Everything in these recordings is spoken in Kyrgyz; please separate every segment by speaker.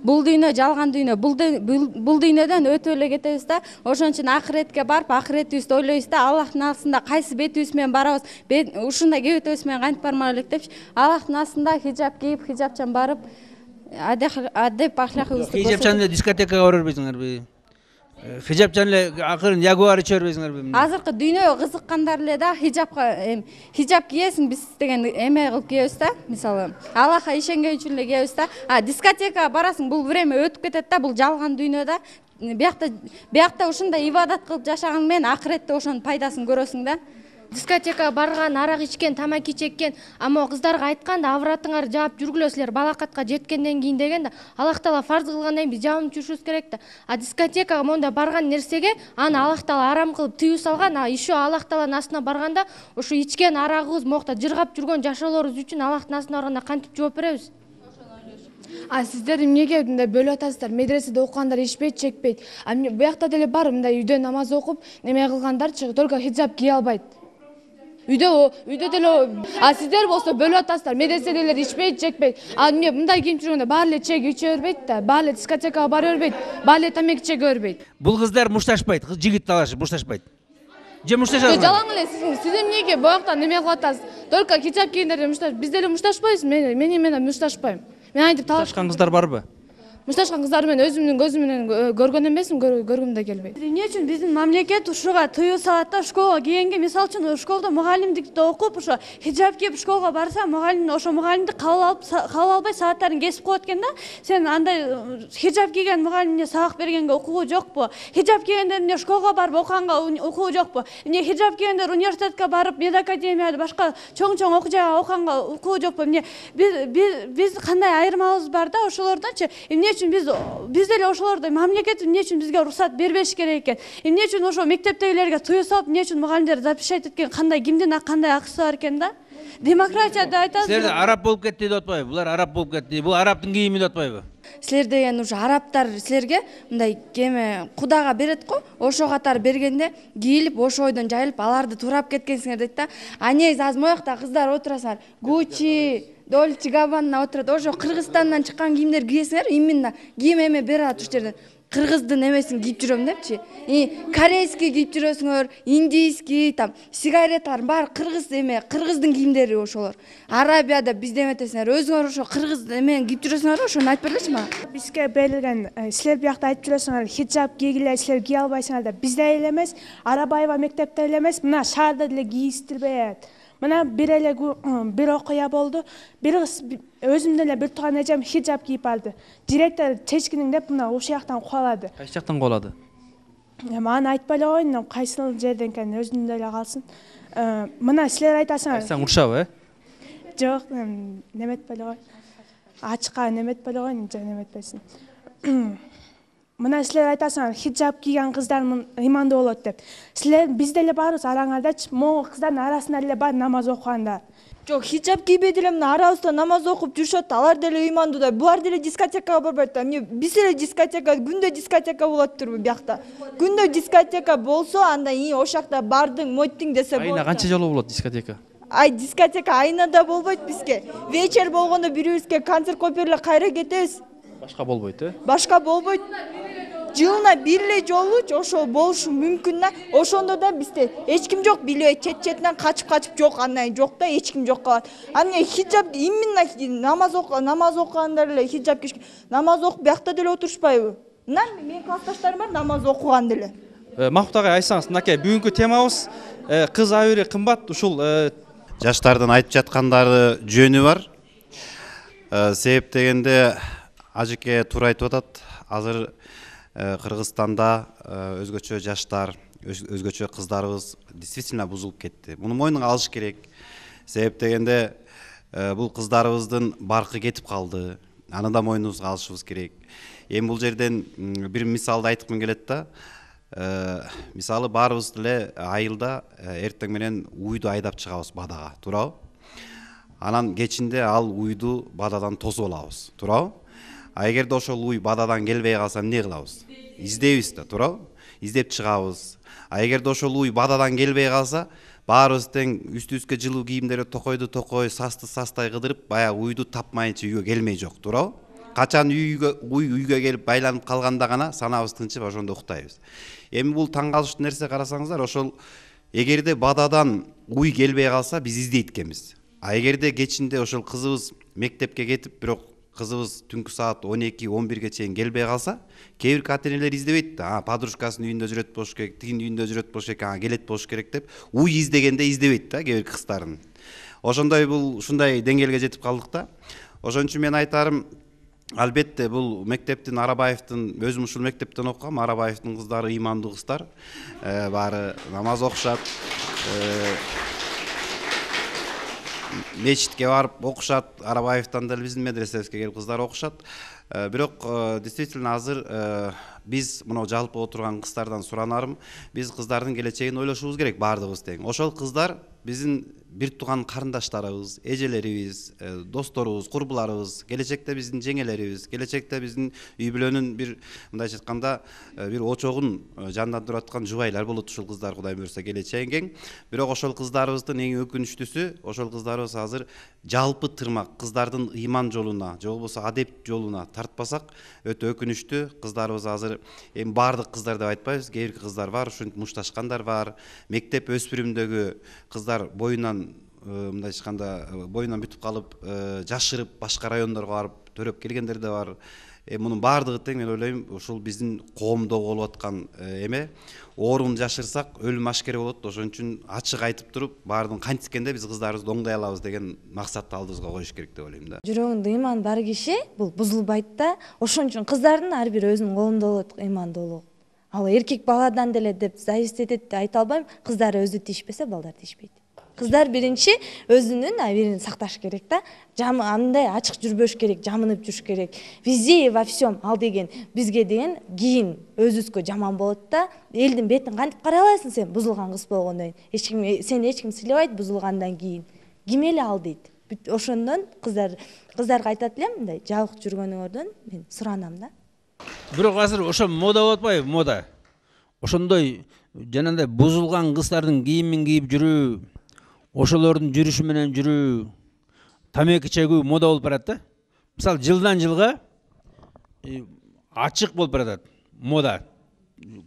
Speaker 1: бул дүйнө жалган дүйнө, бул дүйнөдөн өтүп эле кетебиз да, ошон үчүн акыретке барып, акыретибизди ойлойбуз да, Аллахтын алдында кайсы бетибиз менен барабыз, ушундай кебетибиз менен кантип бармак элек депчи, Аллахтын алдында хижап кийип, хижапчан барып, адеп ахлакыбызды
Speaker 2: хижапчан эле дискотекага бара бербейсиңерби? Хижапчан эле акырын ягуар иче бербейсиңерби?
Speaker 1: Азыркы дүйнөгө кызыккандар эле да хижап кийесиң, биз деген эме кылып кийебиз да, мисалы Аллахка ишенген үчүн эле кийебиз да. Дискотекага барасың, бул время өтүп кетет да, бул жалган дүйнө да. Биякта ушундай ибадат кылып жашаган менен акыретте ошонун пайдасын көрөсүң да.
Speaker 3: Дискотекага барган, арак ичкен, тамаки чеккен, ама кыздарга айткан да, авратыңар жаап жүргүлө, силер балакатка жеткенден кийин деген да, Аллах Таала фарз кылгандан кийин биз жаап жүрүшүбүз керек да. Дискотекага монда барган нерсеге аны Аллах Таала арам кылып тыюу салган, еще Аллах Тааланын астына барганда ушу ичкен арагыбыз, мокта жыргап жүргөн жашоолорубуз үчүн Аллахтын астына барганда кантип жооп беребиз?
Speaker 4: Сиздер эмнеге мындай бөлүп атасыздар? Медреседе окугандар ичпейт, чекпейт. Буякта деле бар мындай үйдө намаз окуп, неме кылгандарчы, только хиджаб кие албайт. Үйдө деле, сиздер болсо бөлүп атасыздар. Медреседегилер ичпейт, чекпейт. Мындай кийип жүргөндө баары эле чегип иче бербейт да, баары эле дискотекага бара бербейт, баары эле тамаки чеге бербейт.
Speaker 2: Бул кыздар мушташпайт, жигит талашып мушташпайт. Же мушташат?
Speaker 4: Жалаң эле сиз эмнеге буякта неме кылып атасыз? Только хиджаб кийгендер мушташ, биз деле мушташпайбыз, мен мушташпайм. Мен айтып
Speaker 5: талашкан кыздар барбы?
Speaker 4: Мушташкан кыздар мен өзүмдүн көзүм менен көргөн эмесмин, көргүм да келбейт.
Speaker 6: Эмне үчүн биздин мамлекет ушуга тыюу салат да, школага кийгенге, мисалы үчүн школдо мугалимдикти окуп, ошо хиджаб кийип школага барса, мугалим ошо мугалимди кабыл албай сааттарын кесип коет экен да. Сен андай хиджаб кийген мугалимге сабак бергенге укугу жокпу? Хиджаб кийгендер эмне школага барып окуганга укугу жокпу? Эмне хиджаб кийгендер университетке барып, медакадемияда, башка чоң окуу жайга окуганга укугу жокпу? Эмне биз кандай айырмалыгыбыз бар да ошолордончу? Эмне үчүн биз деле ошолордой мамлекет эмне үчүн бизге уруксат бербеш керек экен? Эмне үчүн ошо мектептегилерге тыюу салып, эмне үчүн мугалимдер запрещать эткен, кандай кимдин кандай акысы бар экен да? Демократия деп айтасыз.
Speaker 2: Силер араб болуп кетти деп атпайбы? Булар араб болуп кетти. Бул арабтын кийими деп атпайбы?
Speaker 1: Силер деген ушу арабтар силерге мындай кеме Кудага берет го, ошо катары бергенде кийилип, ошо ойдон жайылып, аларды туурап кеткенсиңер дейт да. Негизи азыр моякта кыздар отурасыңар, Гуччи, Дольче Габбана отурат, ошо Кыргызстандан чыккан кийимдер кийесиңер, именно кийим эме берип атат ушул жерден. Кыргыздын эмесин кийип жүрөм депчи. Корейский кийип жүрөсүңөр, индийский, там сигареталар баары кыргыздын кийимдери ошолор. Арабияда биз деметесиңер, өзүңөр ошо кыргыз эмен кийип жүрөсүңөр, ошону айтып бергилечи мага.
Speaker 7: Бизге берилген, силер биякта айтып жүрөсүңөр, хиджаб кийгиле, силер кие албайсыңар деп. Бизде эле эмес, Арабаева мектепте эле эмес, мына шаарда деле кийиштирбейт. Мына бир окуя болду. Бир кыз өзүм деле бир тууган эжем хиджаб кийип барды. Директор чечкиниң деп мына ушул жактан кубалады.
Speaker 5: Кайсы жактан кубалады?
Speaker 7: Аны айтпай эле коеюн, кайсыл жерден экенин өзүндө эле калсын. Мына силер айтасыңар.
Speaker 5: Айтсаң урушабы,
Speaker 7: Жок, неметпей эле кой. Ачка неметпей эле коеюн, же неметпесин. Мына силер айтасыңар, хиджаб кийген кыздар ыймандуу болот деп. Силер биз деле барбыз араңардачы, могу кыздардын арасында эле бар намаз окугандар.
Speaker 8: Жок, хиджаб кийбей деле мына арабызда намаз окуп жүрүшөт, алар деле ыймандуу да. Булар деле дискотекага барбайт да. Биз эле дискотека, күндө дискотека болот турбу биякта. Күндө дискотека болсо, анда ошол жакта бардың, моттиң десе болот.
Speaker 5: Айына канча жолу болот дискотека?
Speaker 8: Дискотека айына да болбойт бизге. Вечер болгондо бирибизге концерт коюп бериле, кайра кетебиз.
Speaker 5: Башка болбойт,
Speaker 8: Башка болбойт. Жылына бир эле жолучу ошол болушу мүмкүн да. Ошондо да бизде эч ким жок, билбей чет-четинен качып жок, андан жок да, эч ким жок калат. Аны хиджаб именно намаз окугандар эле хиджаб кийишкен. Намаз окуп биякта деле отурушпайбы? Менин классташтарым бар намаз окуган деле.
Speaker 5: Махмут агай, айтсаңыз, мынакей бүгүнкү темабыз кыз айыры кымбат, ушул
Speaker 9: жаштардын айтып жаткандары жөнү бар. Себеп дегенде ажеке туура айтып атат. Азыр Кыргызстанда өзгөчө жаштар, өзгөчө кыздарыбыз действительно бузулуп кетти. Муну мойнуна алыш керек. Себеп дегенде бул кыздарыбыздын баркы кетип калды. Аны да мойнубузга алышыбыз керек. Эми бул жерден бир мисалды айткым келет да. Мисалы баарыбыз деле айылда эртең менен уйду айдап чыгабыз бадага, туурабы? Анан кечинде ал уйду бададан тосуп алабыз, туурабы? Эгерде ошол уй бададан келбей калса эмне кылабыз? Издейбиз да, туурабы? Издеп чыгабыз. Эгерде ошол уй бададан келбей калса, баарыбыз тең үстүбүзгө жылуу кийимдерди токой састай кыдырып, баягы уйду тапмайынча үйгө келмей жок, туурабы? качан үйгө келип байланып калганда гана санабыз тынчып ошондо уктайбыз. Эми бул таң калыштуу нерсе, карасаңыздар, ошол эгерде бададан уй келбей калса биз издейт экенбиз. А эгерде кечинде ошол кызыбыз мектепке кетип, бирок кызыбыз түнкү саат 12-11ге чейин келбей калса, кээ бир ата-энелер издебейт да, подружкасынын үйүндө жүрөт болуш керек, тигинин үйүндө жүрөт болуш керек, келет болуш керек деп уй издегенде издебейт да кээ бир кыздардын. Ошондой бул ушундай деңгээлге жетип калдык да. Ошон үчүн мен айтарым, албетте бул мектептин Арабаевдин, өзүм ушул мектептен окугам, Арабаевдин кыздары ыймандуу кыздар, баары намаз окушат, мечитке барып окушат, Арабаевден деле биздин медресебизге келип кыздар окушат. Бирок действительно азыр биз мына жалпы отурган кыздардан суранарым, биз кыздардын келечегин ойлошубуз керек баардыгыбыз тең. Ошол кыздар биздин бир тууган карындаштарыбыз, эжелерибиз, досторубуз, курбуларыбыз, келечекте биздин жеңелерибиз, келечекте биздин үй бүлөнүн бир мындайча айтканда бир очогун жандандырып аткан жубайлар болот ушул кыздар, Кудай буйрса келечеги кең. Бирок ошол кыздарыбыздын эң өкүнүчтүүсү, ошол кыздарыбыз азыр жалпы тырмак кыздардын ыйман жолуна, же болбосо адеп жолуна тартпасак өтө өкүнүчтүү. Кыздарыбыз азыр эми баардык кыздар деп айтпайбыз, кээ бир кыздар бар, ушинтип мушташкандар бар. Мектеп өспүрүмдөгү кыздар боюнан мындай айтканда боюнан бүтүп калып, жашырып башка райондорго барып төрөп келгендер да бар. Мунун баардыгы тең, мен ойлойм, ушул биздин коомдо болуп аткан эме. Оорун жашырсак өлүм ашкер болот. Ошон үчүн ачык айтып туруп, баардыгын кантискенде биз кыздарыбызды оңдой алабыз деген максатты алдыбызга коюш керек деп ойлойм да.
Speaker 10: Жүрөгүндө ыйман бар киши бул бузулбайт да. Ошон үчүн кыздардын ар бири өзүнүн колунда болот ыймандуулугу. Ал эркек баладан деле деп зависит этет деп айта албайм. Кыздар өзү тийишпесе, балдар тийишпейт. Кыздар биринчи өзүнүн абийирин сакташ керек да. Андай ачык жүрбөш керек, жамынып жүрүш керек. Везде и во всем ал деген бизге деген кийин өзүбүзгө жаман болот да. Элдин бетин кантип карай аласың сен бузулган кыз болгондон кийин? Сени эч ким сыйлабайт бузулгандан кийин. Ким эле ал дейт. Ошондон кыздарга айтат элем, мындай жабык жүргөнүңөрдөн мен суранам да.
Speaker 2: Бирок азыр ошо мода болуп атпайбы, мода. Ошондой жанагындай бузулган кыздардын кийимин кийип жүрүү, ошолордун жүрүшү менен жүрүү, тамеки чегүү мода болуп барат да. Мисалы жылдан жылга ачык болуп баратат мода.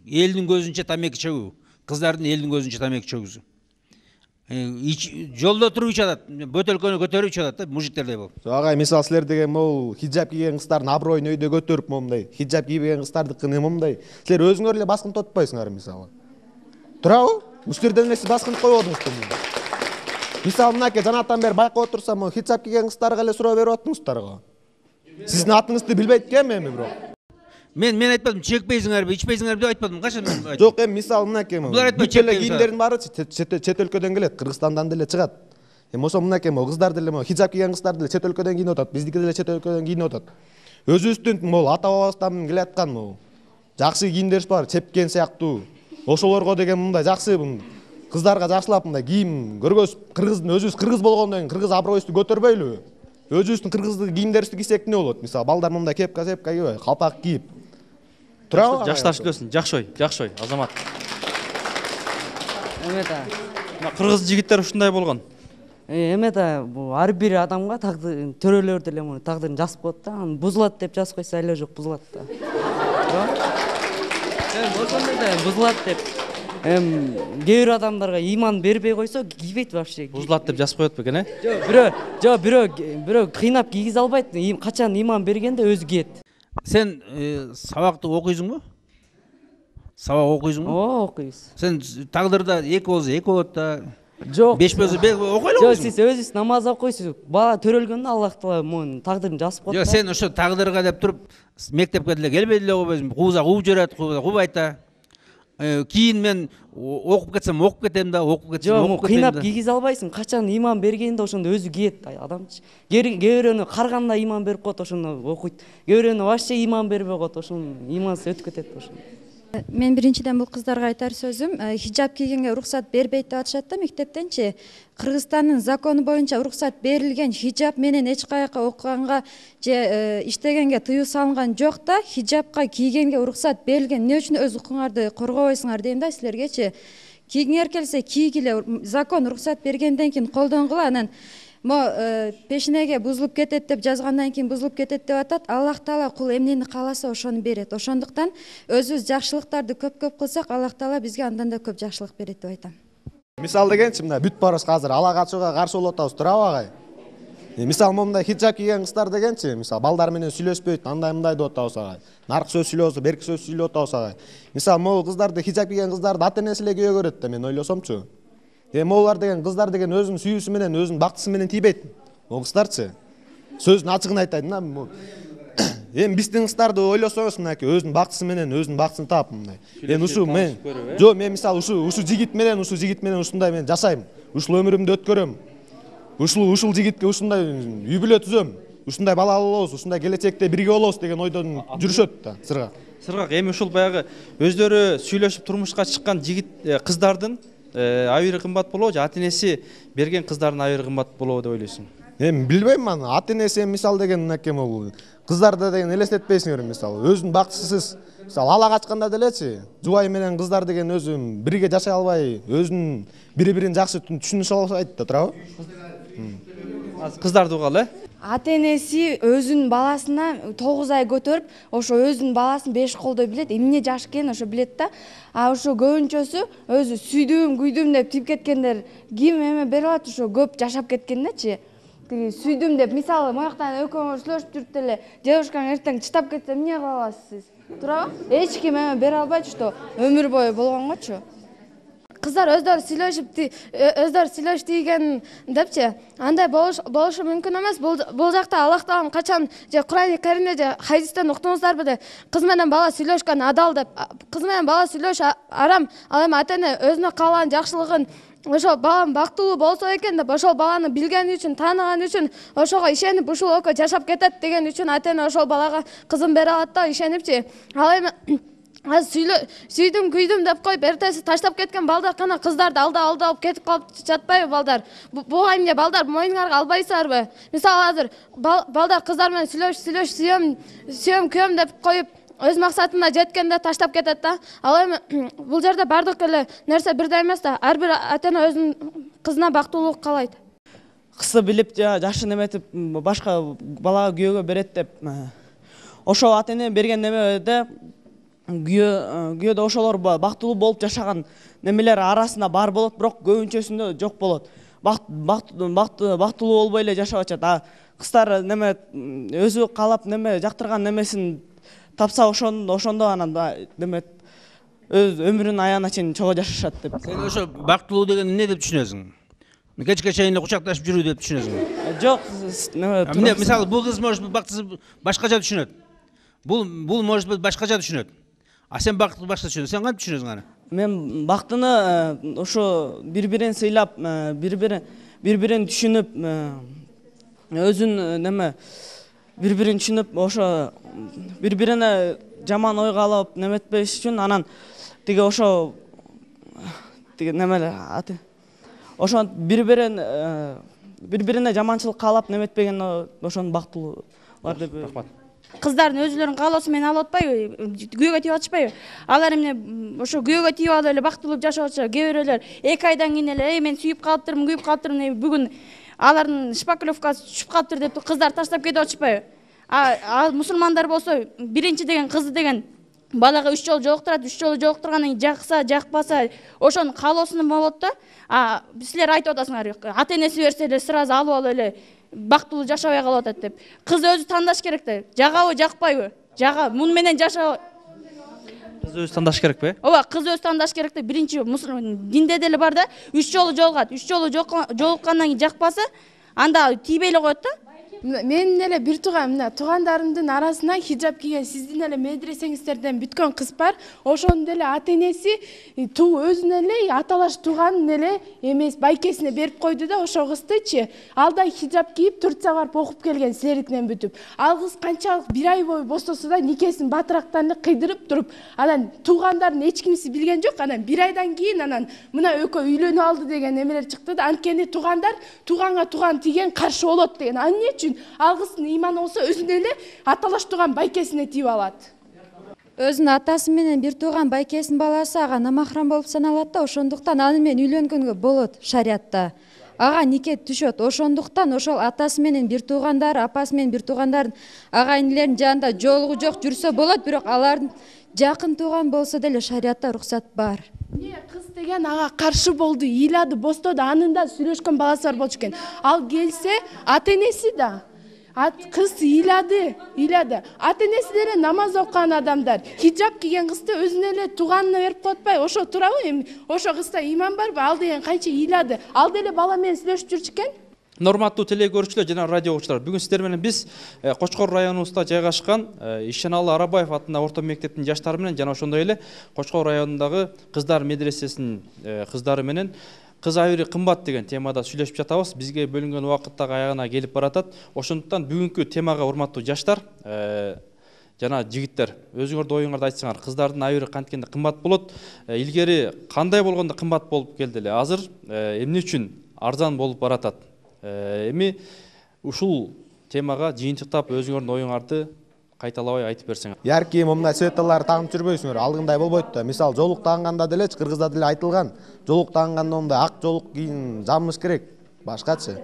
Speaker 2: Элдин көзүнчө тамеки чегүү, кыздардын элдин көзүнчө тамеки чегүүсү. Жолдо туруп ичат, бөтөлкөнү көтөрүп ичат да, мужиктердей болуп.
Speaker 11: Агай, мисалы силер деген могул хиджаб кийген кыздардын аброюн өйдө көтөрүп момундай, хиджаб кийбеген кыздардыкын момундай. Силер өзүңөр эле баскынтып атпайсыңар мисалы. Туурабы? Силерден эле баскынтып койбодуңузбу? Мисалы мынакей жанатан бери байкап отурсам, хиджаб кийген кыздарга эле суроо берип аттыңыздарго. Сиздин атыңызды билбейт экенм эми бирок.
Speaker 2: Мен айтпадым, чекпейсиңерби, ичпейсиңерби деп айтпадым. Качан мен айттым?
Speaker 11: Жок, эми мисалы мынакей
Speaker 2: булар айтпайт, чекпейсиңер.
Speaker 11: кийимдердин баары чет өлкөдөн келет, Кыргызстандан деле чыгат. Эми ошо мынакей кыздар деле хиджаб кийген кыздар деле чет өлкөдөн кийинип атат, биздики деле чет өлкөдөн кийинип атат. Өзүбүздүн могул ата бабабыздан келе аткан могул жакшы кийимдерибиз бар, чепкен сыяктуу. Ошолорго деген мындай жакшы кыздарга жакшылап мындай кийим көргөзүп, өзүбүз кыргыз болгондон кийин кыргыз аброюбузду көтөрбөйлүбү? Өзүбүздүн кыргыздык кийимдерибизди кийсек эмне болот? Мисалы балдар мындай кепка кийбей, калпак кийип. Туурабы?
Speaker 5: Жашташ үлөсүн, жакшой, Азамат.
Speaker 12: Эме да.
Speaker 5: Кыргыз жигиттер ушундай болгон.
Speaker 12: Эме да, бул ар бир адамга тагдыр, төрөлөр деле муну тагдырын жазып коет да, аны бузулат деп жазып койсо эле жок бузулат да. Ошондой да бузулат деп. Кээ бир адамдарга ыйман бербей койсо кийбейт вообще.
Speaker 5: Бузулат деп жазып коет бекен,
Speaker 12: Жок, бирөө кыйнап кийгизе албайт. Качан ыйман бергенде өзү кийет.
Speaker 2: Сен сабакты окуйсуңбу? Сабак окуйсуңбу?
Speaker 12: Ооба, окуйбуз.
Speaker 2: Сен тагдырда 2 болсо 2 болот да.
Speaker 12: Жок.
Speaker 2: 5 болсо 5 окуй
Speaker 12: Жок, сиз өзүңүз намаз окуйсуз. Бала төрөлгөндө Аллах Таала мунун тагдырын жазып коет.
Speaker 2: Жок, сен ошо тагдырга деп туруп мектепке деле келбей деле койбойсуң. Кууза кууп жиберет, куубайт да. Кийин мен окуп кетсем окуп кетем да, окуп кетсем окуп кетем да.
Speaker 12: Кыйнап кийгизе албайсың. Качан ыйман бергенде ошондо өзү кийет адамчы. Кээ бирөөнө карганда ыйман берип коет, ошондо окуйт. Кээ бирөөнө вообще ыйман бербей коет, ошондо ыймансыз өтүп кетет ошондо.
Speaker 13: Мен биринчиден бул кыздарга айтар сөзүм, хиджаб кийгенге уруксат бербейт деп атышат да мектептенчи. Кыргызстандын закону боюнча уруксат берилген, хиджаб менен эч каяка окуганга же иштегенге тыюу салынган жок да, хиджабка кийгенге уруксат берилген. Эмне үчүн өз укугуңарды коргобойсуңар дейм да силергечи. Кийгиңер келсе кийгиле, закон уруксат бергенден кийин колдонгула, анан могу пешенеге бузулуп кетет деп жазгандан кийин бузулуп кетет деп атат. Аллах Таала кул эмнени кааласа ошону берет. Ошондуктан өзүбүз жакшылыктарды көп кылсак, Аллах Таала бизге андан да көп жакшылык берет деп айтам.
Speaker 11: Мисал дегенчи мына бүт барыбыз азыр ала качууга каршы болуп атабыз, туурабы агай? Мисал момундай хиджаб кийген кыздар дегенчи, мисал балдар менен сүйлөшпөйт, андай мындай деп атабыз агай. Наркы сөз сүйлөп атабыз, берки сөз сүйлөп атабыз агай. Мисал могу кыздарды, хиджаб кийген кыздарды ата-энеси эле күйөө көрөт да мен ойлосомчу. Могулар деген кыздар деген өзүнүн сүйүүсү менен, өзүнүн бактысы менен тийбейт. Могу кыздарчы сөздүн ачыгын айтайын да. Эми биздин кыздарды ойлосоңуз мынакей өзүнүн бактысы менен, өзүнүн бактысын таап мындай. Ушу мен жок, мен мисалы ушу жигит менен ушундай мен жашайм. Ушул өмүрүмдү өткөрөм. Ушул жигитке ушундай үй бүлө түзөм. Ушундай бала алабыз, ушундай келечекте бирге болобуз деген ойдон жүрүшөт да Сыргак.
Speaker 5: Эми ушул баягы өздөрү сүйлөшүп турмушка чыккан жигит кыздардын абийири кымбат болобу же ата-энеси берген кыздардын абийири кымбат болобу деп ойлойсуң?
Speaker 11: Эми билбейм аны. Ата-энеси мисал деген мынакей могу кыздарды деген элестетпейсиңер мисалы. Өзүнүн бактысыз мисалы ала качканда делечи, жубай менен кыздар деген өзү бирге жашай албай, өзүнүн бири-бирин жакшы түшүнүшө албайт да, туурабы?
Speaker 5: Кыздарды угалы,
Speaker 1: ата-энеси өзүнүн баласына 9 ай көтөрүп, ошо өзүнүн баласын 5 колдой билет, эмне жаш экенин ошо билет да. А ошо көбүнчөсү өзү сүйдүм, күйдүм деп тип кеткендер ким эме берип алат, ошо көп жашап кеткен дачы. Тиги сүйдүм деп, мисалы, мояктан экөөңөр сүйлөшүп жүрүп деле, девушкаң эртең чытап кетсе эмне кыла аласыз сиз? Туурабы? Эч ким эме бере албайт, что өмүр бою болгонгочу.
Speaker 3: Кыздар өздөрү сүйлөшүп тийген депчи, андай болушу мүмкүн эмес. Бул жакта Аллах Таалам качан же Кур'ан-ы Каримде же хадистен уктуңуздарбы де, кыз менен бала сүйлөшкөн адал деп. Кыз менен бала сүйлөш арам, ал эми ата-эне өзүнө каалаган жакшылыгын ошо балам бактылуу болсо экен деп, ошол баланы билгени үчүн, тааныганы үчүн, ошого ишенип ушул экөө жашап кетет деген үчүн ата-эне ошол балага кызын бере алат да, ишенипчи. Ал эми сүйдүм, күйдүм деп коюп эртеси таштап кеткен балдар кана кыздарды алдап кетип калып жатпайбы балдар? Буга эмне балдар моюңарга албайсыздарбы? Мисалы азыр балдар кыздар менен сүйлөш сүйөм күйөм деп коюп өз максатына жеткенде таштап кетет да. Ал эми бул жерде бардык эле нерсе бирдей эмес да. Ар бир ата-эне өзүнүн кызына бактылуулук каалайт.
Speaker 12: Кызды билип жашын эметип башка балага күйөөгө берет деп, ошол ата-эне берген немеде күйөөдө ошолор бактылуу болуп жашаган немелер арасында бар болот, бирок көбүнчөсүндө жок болот. Бактылуу болбой эле жашап атат. А кыздар неме өзү каалап неме жактырган немесин тапса ошондо анан неме өз өмүрүнүн аягына чейин чогуу жашашат деп.
Speaker 2: Сен ошо бактылуу деген эмне деп түшүнөсүң? Кечке чейин кучакташып жүрүү деп түшүнөсүң?
Speaker 12: Жок,
Speaker 2: неме мисалы бул кыз может бактысы башкача түшүнөт. Бул может быть башкача түшүнөт. А сен бактты башка түшүнөсүң. Сен кантип түшүнөсүң аны?
Speaker 12: Мен бактыны ошо бири-бирин сыйлап, бири-бирин түшүнүп, өзүн неме бири-бирин түшүнүп, ошо бири-бирине жаман ойго алып неметпеш үчүн анан тиги ошо немелер ошо бири-бирине жаманчылык каалап неметпеген ошону бактылуулар деп.
Speaker 6: Рахмат. Кыздардын өзүлөрүнүн каалоосу менен алып атпайбы, күйөөгө тийип атышпайбы? Алар эмне ошо күйөөгө тийип алып эле бактылуу жашап атышат. Кээ бирөөлөр 2 айдан кийин эле мен сүйүп калыптырмын, күйүп калыптырмын, бүгүн алардын шпаклевкасы түшүп калыптыр деп кыздар таштап кетип атышпайбы? А мусулмандар болсо биринчи деген кызды деген балага 3 жолу жолуктурат, 3 жолу жолуктургандан кийин жакса, жакпаса ошонун каалоосунда болот да. Силер айтып атасыңар, ата-энеси берсе эле сразу алып алып эле бактылуу жашабай калып атат деп. Кыз өзү тандаш керек да. Жагабы, жакпайбы? Жага, муну менен жашап.
Speaker 5: Кыз өзү тандаш керекпи?
Speaker 6: Ооба, кыз өзү тандаш керек да. Биринчи динде деле бар да, 3 жолу жолугат. 3 жолу жолуккандан кийин жакпаса, анда тийбей эле коет да.
Speaker 4: Менин эле бир туугандарымдын арасынан хиджаб кийген сиздин эле медресеңиздерден бүткөн кыз бар. Ошонун эле ата-энеси өзүнүн эле аталаш тууганын эле эмес байкесине берип койду да, ошо кыздычы. Алда хиджаб кийип Турцияга барып окуп келген силердикинен бүтүп. Ал кыз канчалык 1 ай бою бостосо да никесин батырактан эле кыйдырып туруп, анан туугандарын эч кимси билген жок. Анан 1 айдан кийин анан мына экөө үйлөнүп алды деген эмелер чыкты да. Анткени туугандар тууганга тууган тиген каршы болот деген. Ал эмне үчүн? Ал кыздын ыйманы болсо өзүнө эле аталаш тууган байкесине тийип алат.
Speaker 13: Өзүнүн атасы менен бир тууган байкесинин баласы ага намахрам болуп саналат да, ошондуктан аны менен үйлөнгөнгө болот шариатта. ага нике түшөт. Ошондуктан ошол атасы менен бир туугандары, апасы менен бир туугандардын ага инилеринин жанында жоолугу жок жүрсө болот, бирок алардын жакын тууган болсо деле шариятта уруксат бар.
Speaker 4: Кыз деген ага каршы болду, ыйлады, бостоду, анын да сүйлөшкөн баласы бар болчу экен. Ал келсе, ата-энеси да кыз ыйлады. Ата-энеси деле намаз окуган адамдар. Хиджаб кийген кызды өзүнө эле тууганына берип коет атпайбы? Ошо туурабы? Эми ошо кызда иман барбы? Ал деген канча ыйлады. Ал деле бала менен сүйлөшүп жүрчү экен.
Speaker 5: Норматтуу теле көрүүчүлөр жана радио угуучулар, бүгүн сиздер менен биз Кочкор районубузда жайгашкан Ишеналы Арабаев атындагы орто мектептин жаштары менен жана ошондой эле Кочкор районундагы кыздар медресесинин кыздары менен кыз айыры кымбат деген темада сүйлөшүп жатабыз. Бизге бөлүнгөн убакыт дагы аягына келип баратат. Ошондуктан бүгүнкү темага урматтуу жаштар жана жигиттер, өзүңөрдүн оюңарды айтсаңар, кыздардын айыры канткенде кымбат болот. Илгери кандай болгондо кымбат болуп келди эле, азыр эмне үчүн арзан болуп баратат? Эми ушул темага жыйынтыктап өзүңөрдүн оюңарды кайталабай айтып берсеңер.
Speaker 11: Яркий мындай светаларды тагынып жүрбөйсүңөр, алдыңдай болбойт да. Мисалы, жоолук тагынганда деле кыргызда деле айтылган, жоолук тагынганда мындай ак жоолук кийин жамыш керек, башкачы.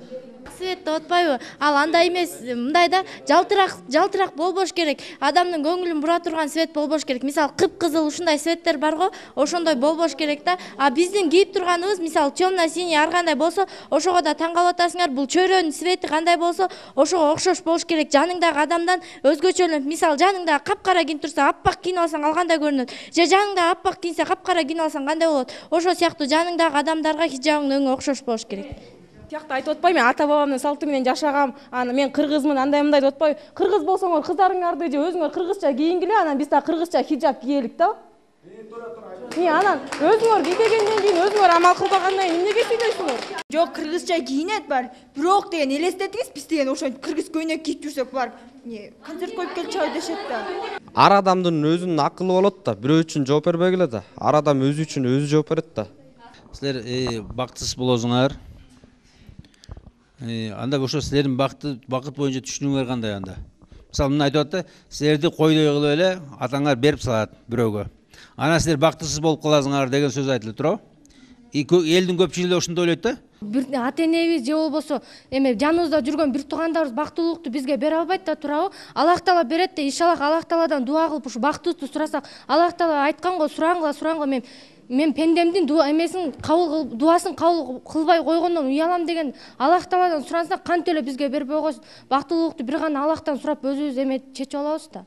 Speaker 3: Свет деп атпайбы? Ал андай эмес, мындай да жалтырак болбош керек. Адамдын көңүлүн бура турган свет болбош керек. Мисалы, кыпкызыл ушундай светтер бар го, ошондой болбош керек да. А биздин кийип турганыбыз, мисалы, темно-синий ар кандай болсо, ошого да таң калып атасыңар. Бул чөйрөнүн свети кандай болсо, ошого окшош болуш керек. Жаныңдагы адамдан өзгөчөлөнүп, мисалы, жаныңда капкара кийинип турса, аппак кийинип алсаң ал кандай көрүнөт? Же жаныңда аппак кийинсе, капкара кийинип алсаң кандай болот? Ошо сыяктуу жаныңдагы адамдарга хиджабыңдын өңү окшош болуш керек.
Speaker 14: Тиякта айтып атпайбы, мен ата бабамдын салты менен жашагам, аны мен кыргызмын, андай мындай деп атпайбы? Кыргыз болсоңор кыздарыңарды же өзүңөр кыргызча кийингиле, анан биз да кыргызча хиджаб кийелик да. Анан өзүңөр кийгенден кийин өзүңөр амал кылбагандан кийин эмнеге сүйлөйсүңөр?
Speaker 8: Жок, кыргызча кийинет бар. Бирок деген элестетиңиз, биз деген ошо кыргыз көйнөк кийип жүрсөк бар. Концерт коюп келчиби дешет да.
Speaker 15: Ар адамдын өзүнүн акылы болот да, бирөө үчүн жооп бербегиле да. Ар адам өзү үчүн өзү жооп берет да.
Speaker 2: Силер бактысыз болосуңар. Анда ошо силердин бакыт боюнча түшүнүңөр кандай анда? Мисалы, мына айтып атты, силерди койдой кылып эле атаңар берип салат бирөөгө. Анан силер бактысыз болуп каласыңар деген сөз айтылып туурабы? Элдин көпчүлүгү ошондой ойлойт да?
Speaker 3: Бир ата-энебиз же болбосо эме жаныбызда жүргөн бир туугандарыбыз бактылуулукту бизге бере албайт да, туурабы? Аллах Таала берет да, иншаллах Аллах Тааладан дуа кылып ушу бактыбызды сурасак, Аллах Таала айткан го, сураңгыла, мен пендемдин дуасын кабыл кылбай койгондон уялам деген Аллах Тааладан сурансак, кантип эле бизге бербей койсун? Бактылуулукту бир гана Аллахтан сурап өзүбүз эме чечип алабыз да.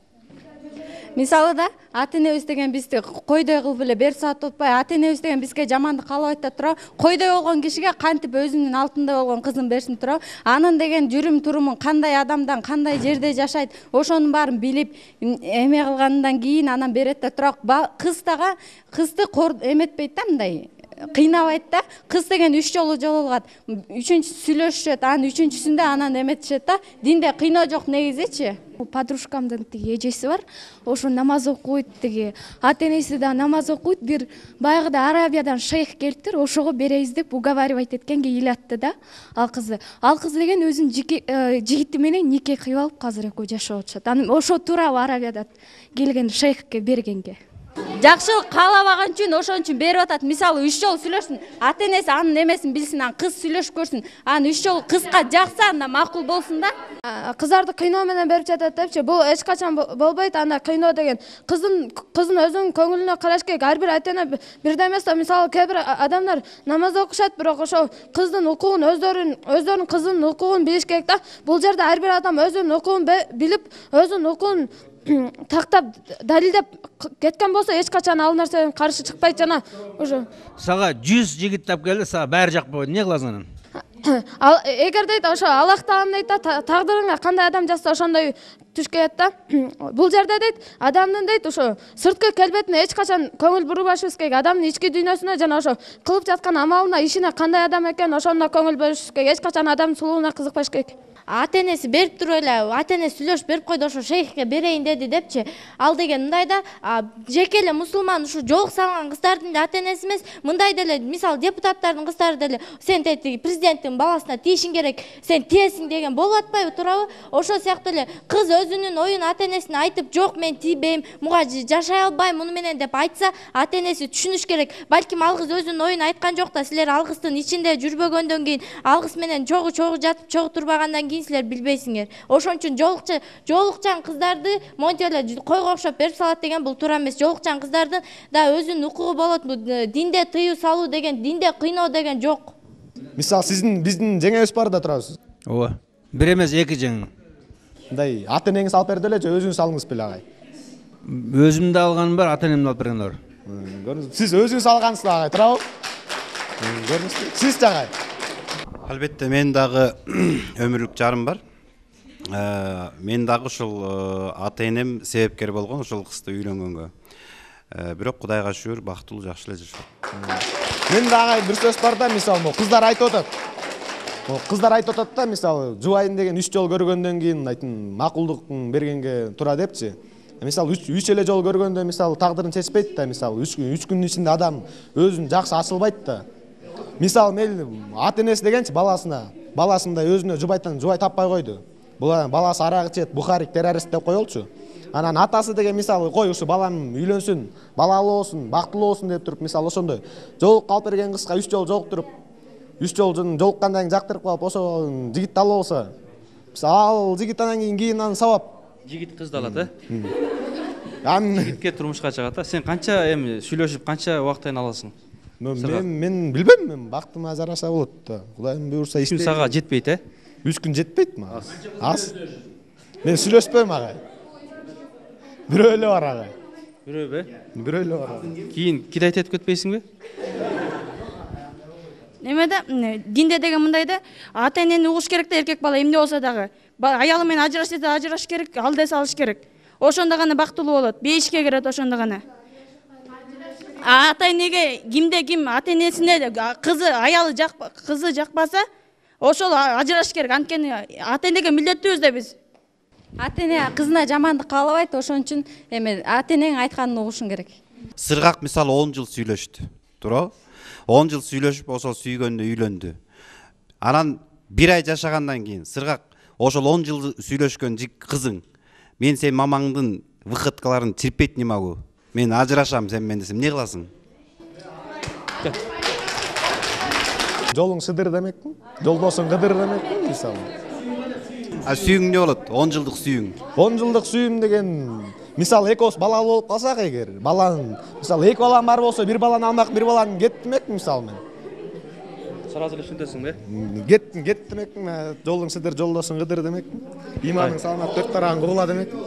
Speaker 13: Мисалы да, ата-энебиз деген бизди койдой кылып эле берип салат атпайбы? Ата-энебиз деген бизге жамандык каалабайт да, туурабы? Койдой болгон кишиге кантип өзүнүн алтындай болгон кызын берсин, туурабы? Анын деген жүрүм турумун, кандай адамдан, кандай жерде жашайт, ошонун баарын билип, эме кылгандан кийин анан берет да, туурабы? Кызды эметпейт да, мындай кыйнабайт да. Кыз деген 3 жолу жолугат. 3-үнчүсү сүйлөшүшөт, анан 3-үнчүсүндө анан эметишет да. Динде кыйноо жок негизичи.
Speaker 4: Подружкамдын тиги эжеси бар, ошо намаз окуйт, тиги ата-энеси да намаз окуйт. Бир баягыда Арабиядан шейх келиптир, ошого беребиз деп уговаривать эткенге ыйлатты да ал кызы. Ал кыз деген өзүнүн жигити менен нике кыйып алып азыр экөө жашап атышат. Анан ошо туурабы Арабиядан келген шейхке бергенге?
Speaker 13: Жакшылык каалабаган үчүн ошон үчүн берип атат. Мисалы, 3 жолу сүйлөшсүн, ата-энеси анын эмесин билсин, анан кыз сүйлөшүп көрсүн. Анан 3 жолу кызга жакса, анда макул болсун да.
Speaker 4: Кыздарды кыйноо менен берип жатат депчи. Бул эч качан болбойт. Анда кыйноо деген кыздын өзүнүн көңүлүнө караш керек. Ар бир ата-эне бирдей эмес да. Мисалы, кээ бир адамдар намаз окушат, бирок ошо кыздын укугун өздөрүнүн кызынын укугун билиш керек да. Бул жерде ар бир адам өзүнүн укугун билип, өзүнүн укугун тактап далилдеп кеткен болсо эч качан ал нерседен каршы чыкпайт. Жана ошо
Speaker 2: сага 100 жигит тап келди, сага баары жакпай, эмне кыласың анан?
Speaker 4: Эгер дейт ошо Аллах Таалам дейт да, тагдырыңа кандай адам жазса ошондой түш келет да. Бул жерде дейт адамдын дейт ошо сырткы келбетине эч качан көңүл бурбашыбыз керек. Адамдын ички дүйнөсүнө жана ошо кылып жаткан амалына, ишине кандай адам экен ошондо көңүл бөлүшүбүз керек. Эч качан адамдын сулууна кызыкпаш керек.
Speaker 3: ата энеси берип туруп эле ата энеси сүйлөшүп берип койду, ошо шейхке берейин деди депчи. Ал деген мындай да, жеке эле мусулман ушу жолук салган кыздардын да ата энеси эмес, мындай деле мисалы депутаттардын кыздары деле сен президенттин баласына тийишиң керек, сен тиесиң деген болуп атпайбы, туурабы? Ошол сыяктуу эле кыз өзүнүн оюн ата энесине айтып, жок мен тийбейм, муга жашай албайм муну менен деп айтса, ата энеси түшүнүш керек. Балким ал кыз өзүнүн оюн айткан жок да, силер ал кыздын ичинде жүрбөгөндөн кийин, ал кыз менен чогуу жатып, чогуу турбагандан кийин силер билбейсиңер. Ошон үчүн жолукчан кыздарды монтип эле койго окшоп берип салат деген бул туура эмес. Жолукчан кыздардын да өзүнүн укугу болот. Динде тыюу салуу деген, динде кыйноо деген жок.
Speaker 11: Мисалы биздин жеңебиз бар да турабыз.
Speaker 2: Ооба. Бир эмес, эки жең.
Speaker 11: Мындай ата энеңиз алып берди эле же өзүңүз алдыңыз беле агай?
Speaker 2: Өзүм да алганым бар, ата энемдин алып бергени бар.
Speaker 11: Көрдүңүзбү? Сиз өзүңүз алгансыз агай, туурабы? Көрдүңүзбү? Сиз агай?
Speaker 9: Албетте мен дагы өмүрлүк жарым бар. Мен дагы ушул ата энем себепкер болгон ушул кызды үйлөнгөнгө. Бирок Кудайга шүгүр, бактылуу, жакшы эле жашашат.
Speaker 11: Мен дагы бир сөз бар да, мисалы, кыздар айтып атат. Кыздар айтып атат да, мисалы, жубайын деген 3 жол көргөндөн кийин айтын макулдук бергенге тура депчи. Мисалы 3 эле жол көргөндө мисалы тагдырын чечпейт да, мисалы 3 күнүн ичинде адам өзүн жакшы ачылбайт да. Мисалы мен ата энеси дегенчи баласындай өзүнө жубай таппай койду. Бул баласы арак ичет, бухарик, террорист деп коелчу. Анан атасы деген мисалы кой ушу балам үйлөнсүн, балалуу болсун, бактылуу болсун деп туруп, мисалы ошондой жолук алып берген кызга 3 жол жолуктуруп, 3 жол жолуккандан кийин жактырып калып, ошо жигит алуу болсо, ал жигит анан кийин анан сабап.
Speaker 5: Жигит кызды алат, Жигитке турмушка чыгат. Сен канча эми сүйлөшүп, канча убакыттан аласың?
Speaker 11: Мен билбейм, мен бактыма жараша болот да. Кудайым буйрса иштейм.
Speaker 5: 3 күн сага жетпейт,
Speaker 11: 3 күн жетпейт мага. Аз. Мен сүйлөшпөйм агай. Бирөө эле бар агай.
Speaker 5: Бирөөбү?
Speaker 11: Бирөө эле бар.
Speaker 5: Кийин кидайт этип кетпейсиңби?
Speaker 6: Немеде динде деген мындай да, ата энени угуш керек да, эркек бала эмне болсо дагы. Аялы менен ажыраш десе ажыраш керек, алдай салыш керек. Ошондо гана бактылуу болот, бейишке кирет ошондо гана. Ата энеге кимде ким ата энесине кызы, аялы кызы жакпаса, ошол ажыраш керек. Анткени ата энеге милдеттүүбүз да биз.
Speaker 13: Ата эне кызына жамандык каалабайт, ошон үчүн эми ата энең айтканын угушуң керек.
Speaker 9: Сыргак мисалы 10 жыл сүйлөштү, туурабы? 10 жыл сүйлөшүп, ошол сүйгөндө үйлөндү. Анан 1 ай жашагандан кийин сыргак ошол 10 жыл сүйлөшкөн кызың, мен сен мамаңдын выходкаларын чирпейт немагу, мен ажырашам сен менен десем, эмне кыласың?
Speaker 11: Жолуң сыдыр демекпи? Жолдосуң кыдыр демекпи, мисалы?
Speaker 9: Сүйүң эмне болот? 10 жылдык сүйүң.
Speaker 11: 10 жылдык сүйүм деген, мисалы экөөбүз балалуу болуп калсак эгер, баланын, мисалы 2 балам бар болсо, 1 баланы алмак, 1 баланы кет демекпи, мисалы мен?
Speaker 5: Сразу эле түшүнөсүң,
Speaker 11: Кет демекпи, жолуң сыдыр, жолдосуң кыдыр демекпи? Иманың саламат 4 тарагын куула демекпи?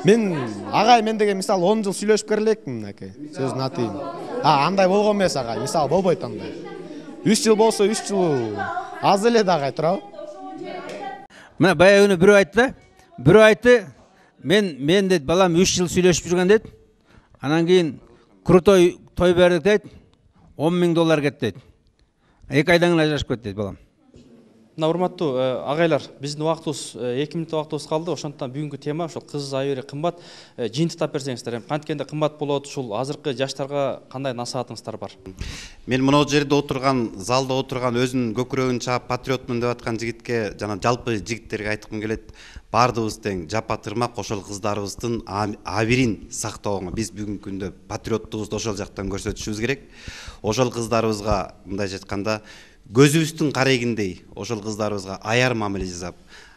Speaker 11: Мен агай мен деген мисалы 10 жыл сүйлөшүп келелекмин, мынакей. Сөзүн атайын. Андай болгон эмес агай, мисалы болбойт андай. 3 жыл болсо 3 жыл аз эле да агай, туурабы?
Speaker 2: Мына баягы күнү бирөө айтты. Бирөө айтты, мен дейт, балам 3 жыл сүйлөшүп жүргөн дейт. Анан кийин крутой той бердик дейт. $10,000 кетти дейт. 2 айдан кийин ажырашып кетти дейт балам.
Speaker 5: Мына урматтуу агайлар, биздин убактыбыз 2 мүнөт убактыбыз калды. Ошондуктан бүгүнкү тема ошол кыз айыры кымбат. Жыйынтыктап берсеңиздер, канткенде кымбат болот, ушул азыркы жаштарга кандай насаатыңыздар бар?
Speaker 9: Мен мына жерде отурган, залда отурган өзүнүн көкүрөгүн чаап патриотмун деп аткан жигитке, жана жалпы жигиттерге айткым келет. Бардыгыбыз тең, жапа тырмак ошол кыздарыбыздын абирин сактоого. Биз бүгүнкү күндө патриоттугубузду ошол жактан көрсөтүшүбүз керек. Ошол кыздарыбызга мындайча айтканда көзүбүздүн карегиндей ошол кыздарыбызга аяр мамиле жасап,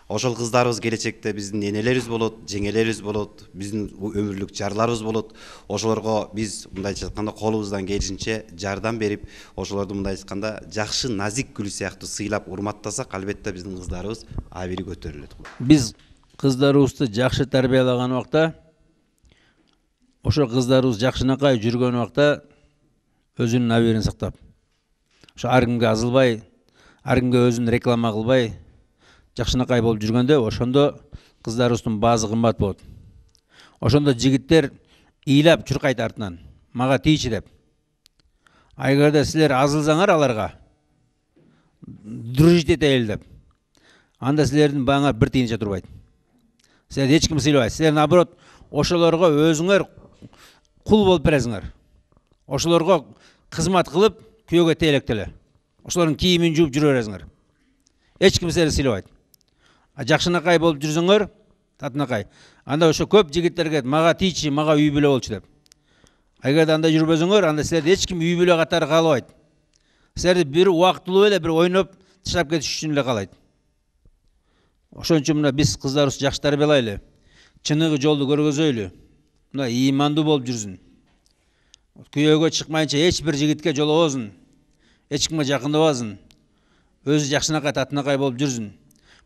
Speaker 9: ошол кыздарыбыз келечекте биздин энелерибиз болот, жеңелерибиз болот, биздин өмүрлүк жарларыбыз болот. Ошолорго биз мындайча айтканда колубуздан келишинче жардам берип, ошолорду мындайча айтканда жакшы назик гүл сыяктуу сыйлап урматтасак, албетте биздин кыздарыбыз абири көтөрүлөт.
Speaker 2: Биз кыздарыбызды жакшы тарбиялаган убакта, ошол кыздарыбыз жакшынакай жүргөн убакта өзүнүн абийирин сактап, ошо ар кимге азылбай, ар кимге өзүн реклама кылбай, жакшынакай болуп жүргөндө, ошондо кыздарыбыздын баазы кымбат болот. Ошондо жигиттер ыйлап чуркайт артынан, мага тийчи деп. Эгерде силер азылсаңар аларга, дружить этели деп. анда силердин бааңар бир тыйынча турбайт. Силерди эч ким сыйлабайт. Силер наоборот ошолорго өзүңөр кул болуп бересиңер. Ошолорго кызмат кылып күйөөгө тейлектеле. Ошолордун кийимин жууп жүрө бересиңер. Эч ким силерди сыйлабайт. Жакшынакай болуп жүрсөңөр, татынакай. Анда ошо көп жигиттер келет, мага тийчи, мага үй бүлө болчу деп. Эгерде анда жүрбөсөңөр, анда силерди эч ким үй бүлө катары каалабайт. Силерди бир убактылуу эле бир ойноп таштап кетиш үчүн эле каалайт. Ошон үчүн мына биз кыздарыбызды жакшы тарбиялайлы. Чыныгы жолду көргөзөйлү. Мына ыймандуу болуп жүрсүн. Күйөөгө чыкмайынча эч бир жигитке жолобосун. Эч кимге жакындабасын. Өзү жакшынакай татынакай болуп жүрсүн.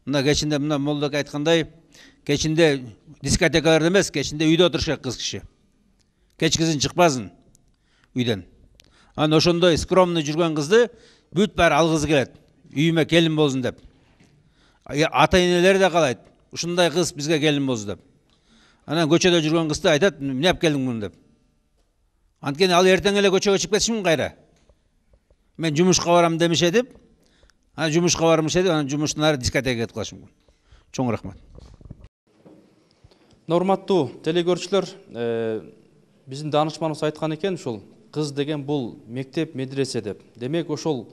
Speaker 2: Мына кечинде мына молдок айткандай, кечинде дискотекаларда эмес, кечинде үйдө отуруш керек кыз киши. Кечкизин чыкпасын үйдөн. Аны ошондой скромный жүргөн кызды бүт баары алгысы келет. Үйүмө келин болсун деп. Ата-энелери да каалайт. Ушундай кыз бизге келин болсун деп. Анан көчөдө жүргөн кызды айтат, эмне алып келдиң муну деп. Анткени ал эртең эле көчөгө чыгып кетиши мүмкүн кайра. Мен жумушка барам демеше деп, анан жумушка бармыш деп, анан жумуштан ары дискотекага кетип калышы мүмкүн. Чоң рахмат.
Speaker 5: Урматтуу телекөрүүчүлөр, биздин даанышманыбыз айткан экен, ушул кыз деген бул мектеп, медресе деп. Демек ошол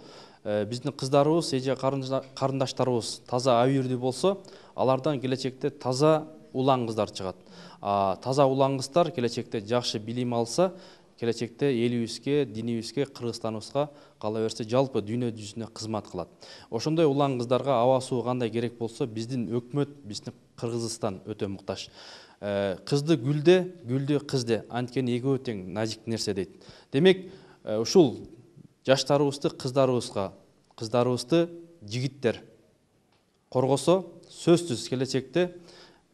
Speaker 5: биздин кыздарыбыз, эже карындаштарыбыз таза абийирдүү болсо, алардан келечекте таза улан кыздар чыгат. Таза улан кыздар келечекте жакшы билим алса, келечекте элибизге, динибизге, Кыргызстаныбызга, кала берсе жалпы дүйнө жүзүнө кызмат кылат. Ошондой улан кыздарга аба суу кандай керек болсо, биздин өкмөт, биздин Кыргызстан өтө муктаж. Кызды гүлде, гүлдү кызде, анткени экөө тең назик нерсе дейт. Демек, ушул жаштарыбызды кыздарыбызга, кыздарыбызды жигиттер коргосо, сөзсүз келечекте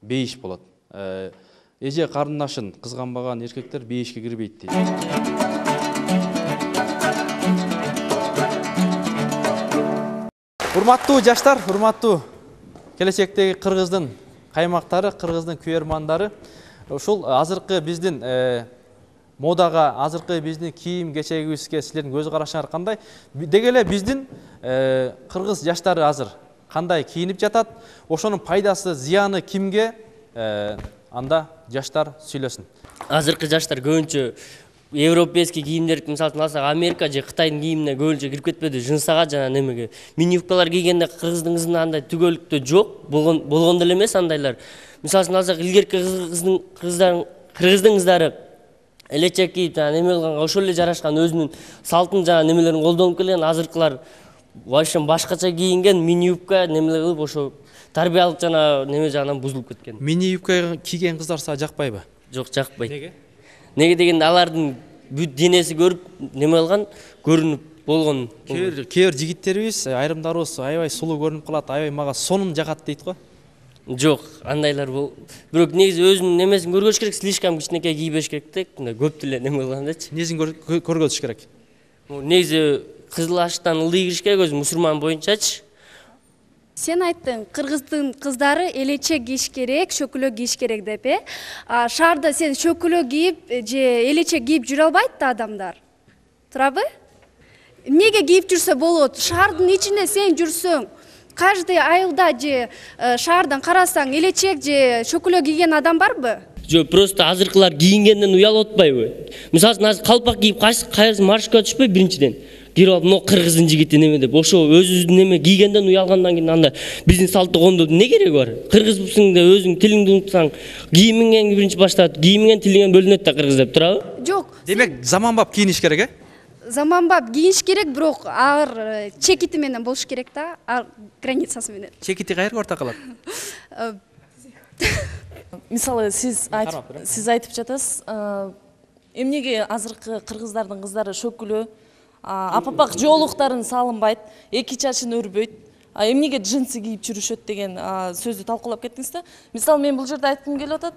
Speaker 5: бейиш болот. Эже карындашын кызганбаган эркектер бейишке кирбейт дейт. Урматтуу жаштар, урматтуу келечектеги Кыргыздын каймактары, Кыргыздын күйөрмандары, ушул азыркы биздин модага, азыркы биздин кийим кечегибизге силердин көз карашыңар кандай? Деги эле биздин кыргыз жаштары азыр кандай кийинип жатат? Ошонун пайдасы, зыяны кимге? Анда жаштар сүйлөсүн.
Speaker 16: Азыркы жаштар көбүнчө европейский кийимдерди мисалы алсак, Америка же Кытайдын кийимине көбүнчө кирип кетпеди, жынсага жана немеге. Мини-юбкалар кийгенде кыргыздын кызында андай түгөлүктө жок, болгон деле эмес андайлар. Мисалы алсак, илгерки кыргыздын кыздары элечек кийип, жана неме кылганга ошол эле жарашкан өзүнүн салтын жана немелерин колдонуп келген. Азыркылар вообще башкача кийинген, мини-юбка немелер кылып, ошо тарбиялык жана неме жагынан бузулуп кеткен.
Speaker 5: Мини-юбка кийген кыздар сага жакпайбы?
Speaker 16: Жок, жакпайт.
Speaker 5: Неге?
Speaker 16: Неге дегенде алардын бүт денеси көрүп, неме кылган, көрүнүп болгон.
Speaker 5: Кээ бир жигиттерибиз, айрымдарыбыз аябай сулуу көрүнүп калат, аябай мага сонун жагат дейт го.
Speaker 16: Жок, андайлар бирок негизи өзүнүн немесин көргөзүш керек, слишком кичинекей кийбеш керек да, мындай көп деле неме кылгандачы.
Speaker 5: Несин көргөзүш керек?
Speaker 16: Негизи кызыл аштан ылдый кириш керек, өзү мусулман боюнчачы.
Speaker 17: Сен айттың, кыргыздын кыздары элечек кийиш керек, шөкөлө кийиш керек деп, Шаарда сен шөкөлө кийип же элечек кийип жүрө албайт да адамдар. Турабы? Эмнеге кийип жүрсө болот? Шаардын ичинде сен жүрсөң, каждый айылда же шаардан карасаң элечек же шөкөлө кийген адам барбы?
Speaker 16: Жок, просто азыркылар кийингенден уялып атпайбы? Мисалы азыр калпак кийип кайсы маршрутка түшпөй биринчиден. Кирип алып, но кыргыздын жигити неме деп, ошо өзүбүздүн неме кийгенден уялгандан кийин анда биздин салтты коомдоодун эмне кереги бар? Кыргызбысың деп өзүң тилиңди унутсаң, кийимиңен биринчи баштап, кийимиңен тилиңен бөлүнөт да кыргыз деп, турабы?
Speaker 17: Жок.
Speaker 5: Демек, заманбап кийиниш керек,
Speaker 17: Заманбап кийиш керек, бирок ар чекити менен болуш керек да, ар границасы менен.
Speaker 5: Чекити кайерге орто калат?
Speaker 14: Мисалы, сиз айтып жатасыз, эмнеге азыркы кыргыздардын кыздары шөкүлө, апапак жоолуктарын салынбайт, эки чачын өрбөйт, эмнеге джинсы кийип жүрүшөт деген сөздү талкуулап кеттиңиз да. Мисалы, мен бул жерде айткым келип атат,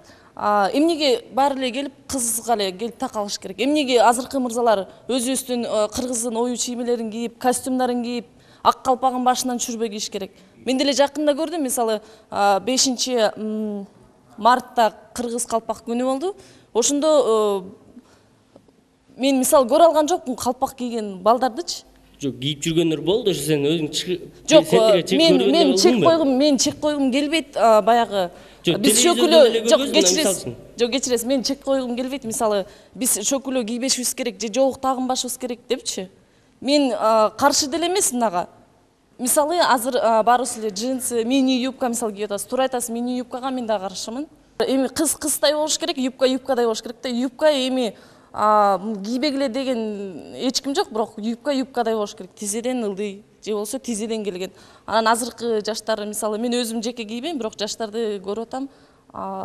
Speaker 14: эмнеге баары эле келип кызга эле келип такалыш керек? Эмнеге азыркы мырзалар өзүбүздүн кыргыздын ою чиймелерин кийип, костюмдарын кийип, ак калпагын башынан түшүрбөй кийиш керек? Мен деле жакында көрдүм, мисалы 5 мартта кыргыз калпак күнү болду. Ошондо мен мисалы көрө алган жокмун калпак кийген балдардычы.
Speaker 16: Жок, кийип жүргөндөр болду, ошо сен өзүң
Speaker 14: жок, мен чек койгум келбейт, баягы биз шөкүлө жок кечиресиз, мен чек койгум келбейт. Мисалы, биз шөкүлө кийбешибиз керек же жоолук тагынбашыбыз керек депчи. Мен каршы деле эмес мынага. Мисалы, азыр баарыбыз эле джинсы, мини юбка мисалы кийип атасыз. Туура айтасыз, мини юбкага мен да каршымын. Эми кыздай болуш керек, юбкадай болуш керек да. Юбка эми кийбегиле деген эч ким жок, бирок юбкадай болуш керек. Тизеден ылдый же болсо тизеден келген. Анан азыркы жаштар, мисалы, мен өзүм жеке кийбейм, бирок жаштарды көрүп атам,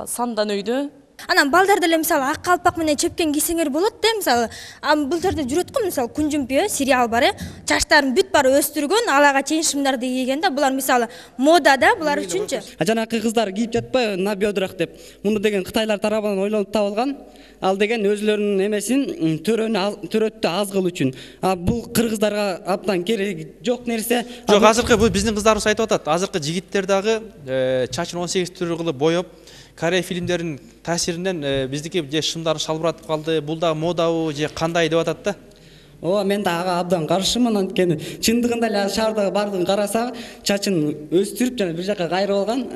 Speaker 14: сандан өйдө.
Speaker 18: Анан балдар деле мисалы ак калпак менен чепкен кийсеңер болот да, мисалы. Бул жерде жүрөт го, мисалы, Күн жүмпү сериал бар, чачтарын бүт баары өстүргөн, алага чейин шымдарды кийген да. Булар мисалы мода да, булар үчүнчү.
Speaker 19: Жанакы кыздар кийип жатпайбы на бедрах деп. Муну деген кытайлар тарабынан ойлонуп табылган. Ал деген өзлөрүнүн эмесин төрөттү аз кылуу үчүн. Бул кыргыздарга абдан кереги жок нерсе.
Speaker 5: Жок, азыркы бул биздин кыздарыбыз айтып атат. Азыркы жигиттер дагы чачын 18 түрү кылып боеп, Корей фильмдеринин таасиринен биздики же шымдары шалбыратып калды. Бул да модабы же кандай деп атат да.
Speaker 19: Ооба, мен да ага абдан каршымын. Анткени чындыгында эле шаардагы бардыгын караса, чачын өстүрүп жана бир жака кайрып алган.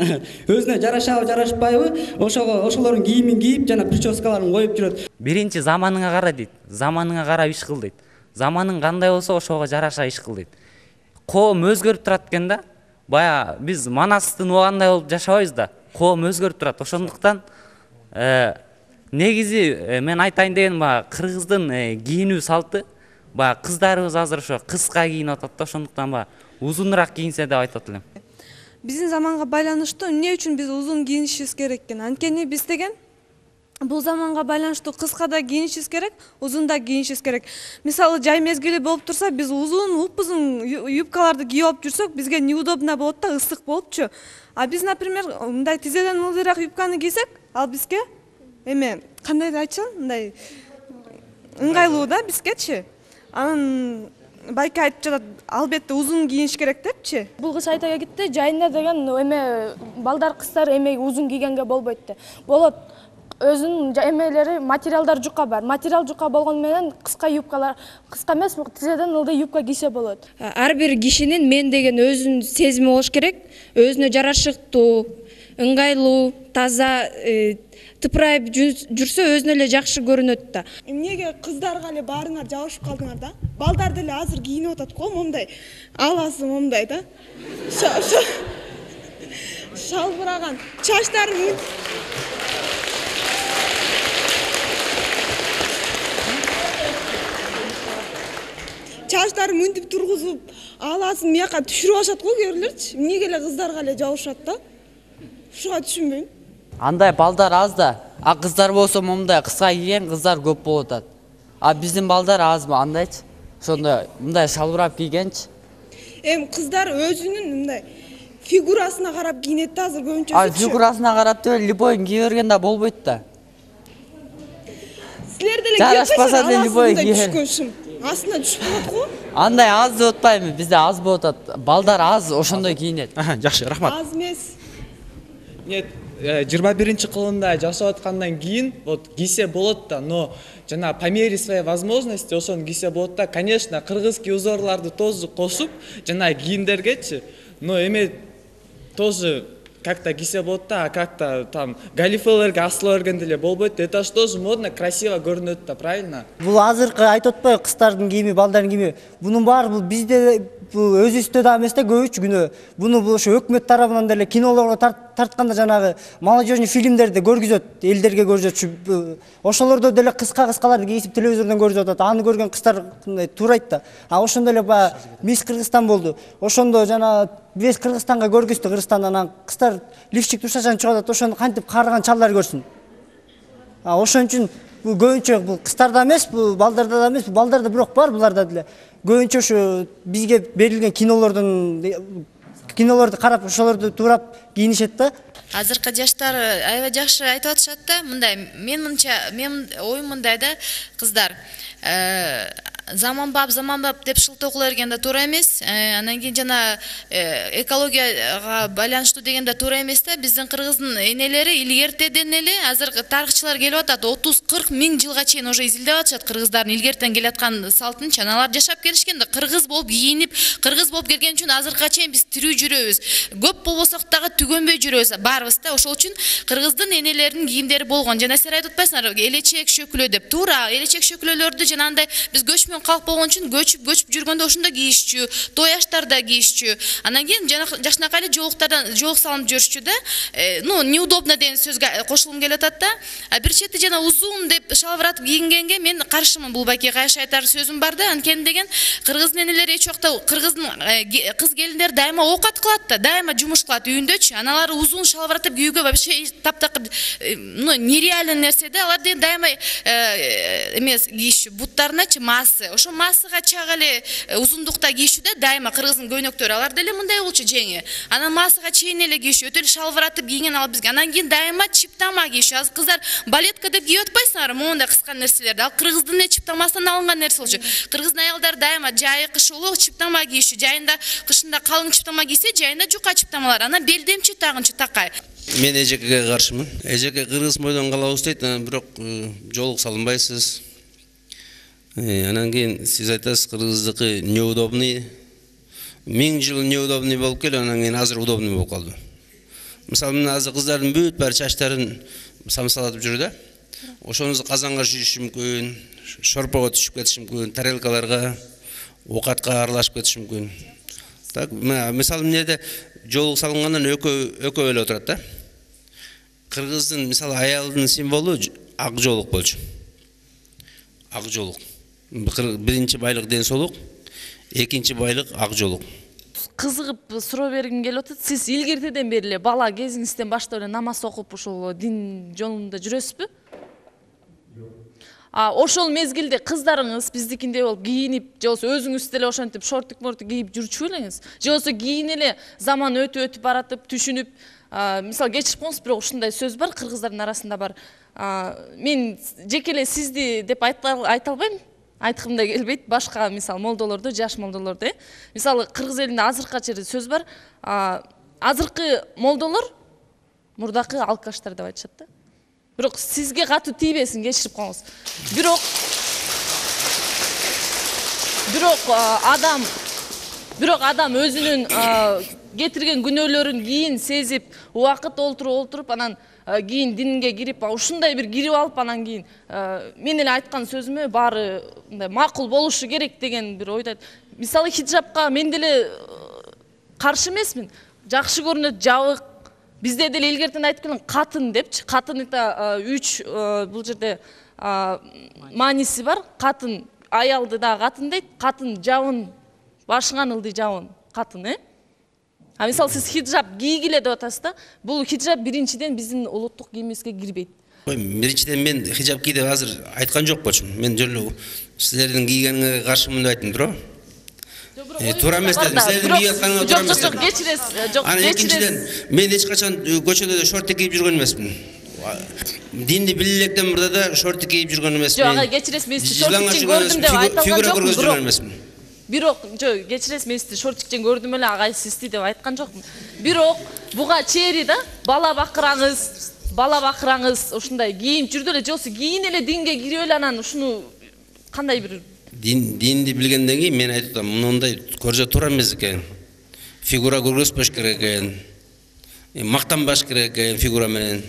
Speaker 19: Өзүнө жарашабы, жарашпайбы, ошолордун кийимин кийип жана прическаларын коюп жүрөт.
Speaker 20: Биринчи заманыңа кара дейт. Заманыңа карап иш кыл дейт. Заманың кандай болсо ошого жараша иш кыл дейт. Коом өзгөрүп турат экен да. Бая биз Манастын убагындай болуп жашабайбыз да. Коом өзгөрүп турат. Ошондуктан негизи мен айтайын дегеним кыргыздын кийинүү салты, кыздарыбыз азыр ошо кыска кийинип атат да, ошондуктан узунураак кийинсе деп айтат элем.
Speaker 21: Биздин заманга байланыштуу эмне үчүн биз узун кийинишибиз керек экен? Анткени биз деген бул заманга байланыштуу кыска да кийинишибиз керек, узун да кийинишибиз керек. Мисалы, жай мезгили болуп турса, биз узун, упузун юбкаларды кийип алып жүрсөк, бизге неудобно болот да, ысык болупчу. А биз, например, мындай тизеден ылдыйраак юбканы кийсек, ал бизге эме кандай деп айтчам, мындай ыңгайлуу да бизгечи. Анан байке айтып жатат, албетте узун кийиниш керек депчи.
Speaker 3: Бул кыз айта кетти, жайында деген эме балдар кыздар эме узун кийгенге болбойт деп. Болот. Өзүнүн эмелери, материалдар жука бар. Материал жука болгону менен кыска юбкалар, кыска эмес, тизеден ылдый юбка кийсе болот.
Speaker 1: Ар бир кишинин мен деген өзүнүн сезими болуш керек. Өзүнө жарашыктуу, ыңгайлуу, таза, тыпырайып жүрсө өзүнө эле жакшы көрүнөт да.
Speaker 21: Эмнеге кыздарга эле баарыңар жабышып калдыңар да? Балдар деле азыр кийинип атат го, момдай. Аласы момдай да. Шалбыраган, чачтарын мынтип тургузуп, аласын мияка түшүрүп алышат го кээ-бирлерчи. Эмнеге эле кыздарга эле жабышат да? Ушуга түшүнбөйм.
Speaker 20: Андай балдар аз да. Кыздар болсо момундай кыска кийген кыздар көп болуп атат. Биздин балдар азбы андайчы? Ошондой мындай шалбырап кийгенчи.
Speaker 21: Кыздар өзүнүн мындай фигурасына карап кийинет да азыр көбүнчөсү.
Speaker 20: Фигурасына карап деле любойун кие берген да болбойт да.
Speaker 21: Силер деле жарашпаса деле любой кийген. Астына түшүп калат го.
Speaker 20: Андай аз деп атпайбы, бизде аз болуп атат. Балдар аз ошондой кийинет.
Speaker 5: Жакшы, рахмат.
Speaker 21: Аз эмес.
Speaker 22: Нет, 21 кылымда жашап аткандан кийин вот кийсе болот да, но жана по мере своей возможности ошону кийсе болот да. Конечно, кыргызский узорларды тоже кошуп, жана кийимдергечи, но эме тоже как-то кийсе болот да, как-то там галифелерге асыла берген деле болбойт. Это ж тоже модно, красиво көрүнөт да, правильно?
Speaker 23: Бул азыркы айтып атпайбы, кыздардын кийими, балдардын кийими. Бунун баары бул бизде бул өзүбүздө да эмес да, көбүчө күнөө. Буну бул ошо өкмөт тарабынан деле кинолорго тартканда жанагы молодежный фильмдерди көргүзөт, элдерге көрсөтчү. Ошолордо деле кыскаларды кийип телевизордон көрүп атат. Аны көргөн кыздар мындай туурайт да. Ошондо эле баягы Мисс Кыргызстан болду. Ошондо жана весь Кыргызстанга көргүздү, Кыргызстандан анан кыздар лифчик тушачан чыгып атат, ошону кантип карыган чалдар көрсүн. Ошон үчүн бул көбүнчө бул кыздарда эмес, бул балдарда да эмес, балдарда бирок бар, буларда деле. Көбүнчө ошо бизге берилген кинолорду карап, ошолорду туурап кийинишет да.
Speaker 24: Азыркы жаштар аябай жакшы айтып атышат да, мындай, мен оюм мындай да, кыздар заманбап деп шылтоо кыла берген да туура эмес. Анан кийин жана экологияга байланыштуу деген да туура эмес да. Биздин кыргыздын энелери илгертеден эле азыр тарыхчылар келип атат, 30-40 миң жылга чейин уже изилдеп атышат кыргыздардын илгертен келаткан салтынчы. Аналар жашап келишкен да, кыргыз болуп кийинип, кыргыз болуп келген үчүн азыркыга чейин биз тирүү жүрөбүз. Көп болбосок дагы түгөнбөй жүрөбүз барыбыз да. Ошол үчүн кыргыздын энелеринин кийимдери болгон. Жана силер айтып атпайсыңарбы, элечек шөкүлө деп. Туура, элечек шөкүлөлөрдү жанагындай биз көчмөн калк болгон үчүн көчүп жүргөндө ошондо кийишчү, той аштарда кийишчү. Анан кийин жакшынакай эле жоолук салынып жүрүшчү да. Ну, неудобно деген сөзгө кошулгум келип атат да. Бир чети жана узун деп шалбыратып кийингенге мен каршымын. Бул байке кайшы айтар сөзүм бар да. Анткени деген кыргыздын энелери эч убакта кыргыздын кыз келиндер дайыма оокат кылат да, дайыма жумуш кылат үйүндөчү. Аналар узун шалбыратып кийүүгө вообще таптакыр нереальный нерсе да. Алар деген дайыма эмес кийишчү, буттарыначы массы. Ошо массыга чак эле узундукта кийишчү да, дайыма кыргыздын көйнөктөрү. Алар деле мындай болчу жеңи. Анан массыга чейин эле кийишчү, өтө эле шалбыратып кийген ал бизге. Анан кийин дайыма чиптама кийишчү. Азыр кыздар балетка деп кийип атпайсыңарбы, мондай кыска нерселерди. Ал кыргыздын чиптамасынан алынган нерсе болчу. Кыргыздын аялдары дайыма жайы кыш улуу чиптама кийишчү. Жайында кышында калың чиптама кийсе, жайында жука чиптамалар. Анан белдемчи тагынчы такай.
Speaker 7: Мен эжекеге каршымын. Эжеке кыргыз мойдон калабыз дейт, бирок жоолук салынбайсыз. Анан кийин сиз айтасыз кыргыздыкы неудобный. 1000 жыл неудобный болуп келип, анан кийин азыр удобный болуп калды. Мисалы, мен азыр кыздардын бүт баары чачтарын самсалатып жүрү да. Ошону казанга шүйүшү мүмкүн, шорпого түшүп кетиши мүмкүн, тарелкаларга, оокатка аралашып кетиши мүмкүн. Так, мисалы, эмнеде жоолук салынгандан экөө эле отурат да. Кыргыздын мисалы аялдын символу ак жоолук болчу. Ак жоолук. Биринчи байлык ден соолук, экинчи байлык ак жоолук.
Speaker 8: Кызыгып суроо бергим келип атат. Сиз илгертеден бери эле бала кезиңизден баштап эле намаз окуп ошол дин жолунда жүрөсүзбү? Ошол мезгилде кыздарыңыз биздикиндей болуп кийинип, же болбосо өзүңүз деле ошентип шортик кийип жүрчү белеңиз? Же болбосо кийин эле заман өтүп баратып, түшүнүп, мисалы кечирип коңуз, бирок ушундай сөз бар, кыргыздардын арасында бар. Мен жеке эле сизди деп айта албайм. Айткым да келбейт, башка мисалы молдолорду, жаш молдолорду. Мисалы кыргыз элинде азыркыга чейин сөз бар. Азыркы молдолор мурдакы алкаштар деп айтышат да. Бирок сизге катуу тийбесин, кечирип коңуз. Бирок адам өзүнүн кетирген күнөөлөрүн кийин сезип, убакыт олтуруп, анан кийин динге кирип, ушундай бир кирип алып, анан кийин мен эле айткан сөзүмө баары мындай макул болушу керек деген бир ойдойт. Мисалы хиджабка мен деле каршы эмесмин. Жакшы көрүнөт, жабык. Бизде деле илгертен айтып келген катын депчи. Катын это 3 бул жерде мааниси бар. Катын аялды да катын дейт. Катын жабын, башыңан ылдый жабын катын, мисалы сиз хиджаб кийгиле деп атасыз да. Бул хиджаб биринчиден биздин улуттук кийимибизге кирбейт.
Speaker 7: Биринчиден мен хиджаб ки деп азыр айткан жок болчумун. Мен жолу силердин кийгениңерге каршымын деп айттым, туура? Туура эмес дедим. Силердин кийип атканыңар туура эмес.
Speaker 8: Жок, кечиресиз.
Speaker 7: Анан экинчиден мен эч качан көчөдө шортик кийип жүргөн эмесмин. Динди билелектен мурда да шортик кийип жүргөн эмесмин.
Speaker 8: Жок, кечиресиз, мен сизди шортикчен көрдүм деп айткан жокмун. Бирок, кечиресиз, мен сизди шортикчен көрдүм эле, агай сизди деп айткан жокмун. Бирок буга чейин да бала бакыраңыз, ушундай кийип жүрдү эле, жосу кийин эле динге кирип эле анан ушуну кандай бир
Speaker 7: динди билгенден кийин мен айтып атам, мындай көрсө туура эмес экен. Фигура көргөзбөш керек экен. Мактанбаш керек экен фигура менен.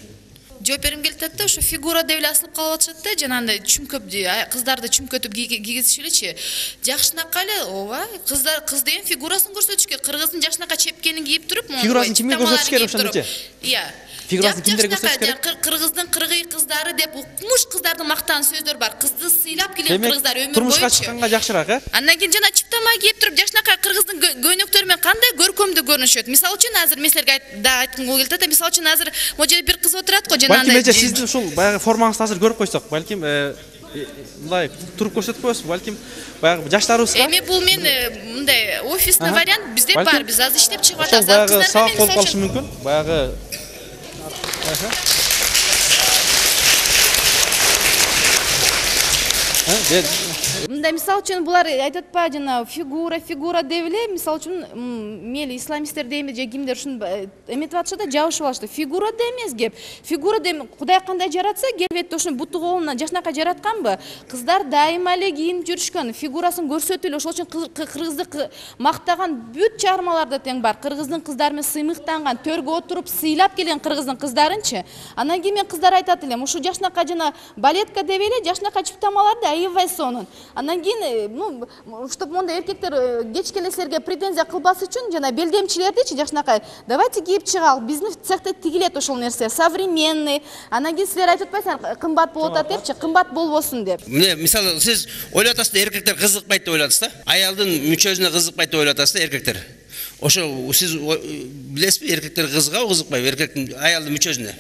Speaker 24: Жооп бергим келип атат да, ошо фигура деп эле асылып калып атышат да, жанагындай чүмкөп кыздарды чүмкөтүп кийгизиши элечи. Жакшынакай эле, ооба, кыз деген фигурасын көрсөтүш керек. Кыргыздын жакшынакай чепкенин кийип туруп,
Speaker 5: фигурасын кимге көрсөтүш керек ошондочу?
Speaker 24: Iya.
Speaker 5: Фигурасын кимдерге көрсөтүш керек?
Speaker 24: Кыргыздын кыргый кыздары деп укмуш кыздардын мактан сөздөр бар. Кызды сыйлап келген кыргыздар өмүр бою.
Speaker 5: Турмушка чыкканга жакшыраак,
Speaker 24: Андан кийин жана чиптама кийип туруп, жакшынакай кыргыздын көйнөктөрү менен кандай көркөмдүү көрүнүшөт. Мисалы үчүн азыр мен силерге айткым келип атат. Мисалы үчүн азыр могу жерде бир кыз отурат го, жанагындай.
Speaker 5: Балким сиздин ушул баягы формаңызды азыр көрүп койсок, балким мындай туруп көрсөтүп коесузбу, балким баягы жаштарыбызга.
Speaker 24: Эми бул мен мындай офисный вариант bizde бар, биз азыр иштеп чыгып атабыз.
Speaker 5: Баягы сабак болуп калышы мүмкүн. Баягы
Speaker 4: мындай мисалы үчүн булар айтат атпайбы жана фигура деп эле мисалы үчүн мейли исламисттер дейби же кимдер ушун эметип атышат да, жабышып алышты. Фигура да эмес кеп. Фигура деп Кудай кандай жаратса, келбетти ушуну буту колунан жашынакай жаратканбы? Кыздар дайыма эле кийинип жүрүшкөн, фигурасын көрсөтүп эле. Ошол үчүн кыргызды мактаган бүт чыгармаларда тең бар. Кыргыздын кыздары менен сыймыктанган, төргө отуруп сыйлап келген кыргыздын кыздарынчы. Анан кийин мен кыздар айтат элем, ушу жашынакай жана балетка деп эле жашынакай чыптамаларды аябай сонун. Анан кийин, чтобы мондай эркектер кечки эле силерге претензия кылбас үчүн жана белдемчилердичи жашынакай, давайте кийип чыгалы, биздин цехте тигилет ошол нерсе, современный. Анан кийин силер айтып атпайсыңар, кымбат болуп атат депчи, кымбат болбосун деп.
Speaker 7: Мына мисалы сиз ойлоп атасыз да, эркектер кызыкпайт деп ойлоп атасыз да. Аялдын мүчөсүнө кызыкпайт деп ойлоп атасыз да, эркектер. Ошо сиз билесизби, эркектер кызыгабы, кызыкпайбы эркектин аялдын мүчөсүнө?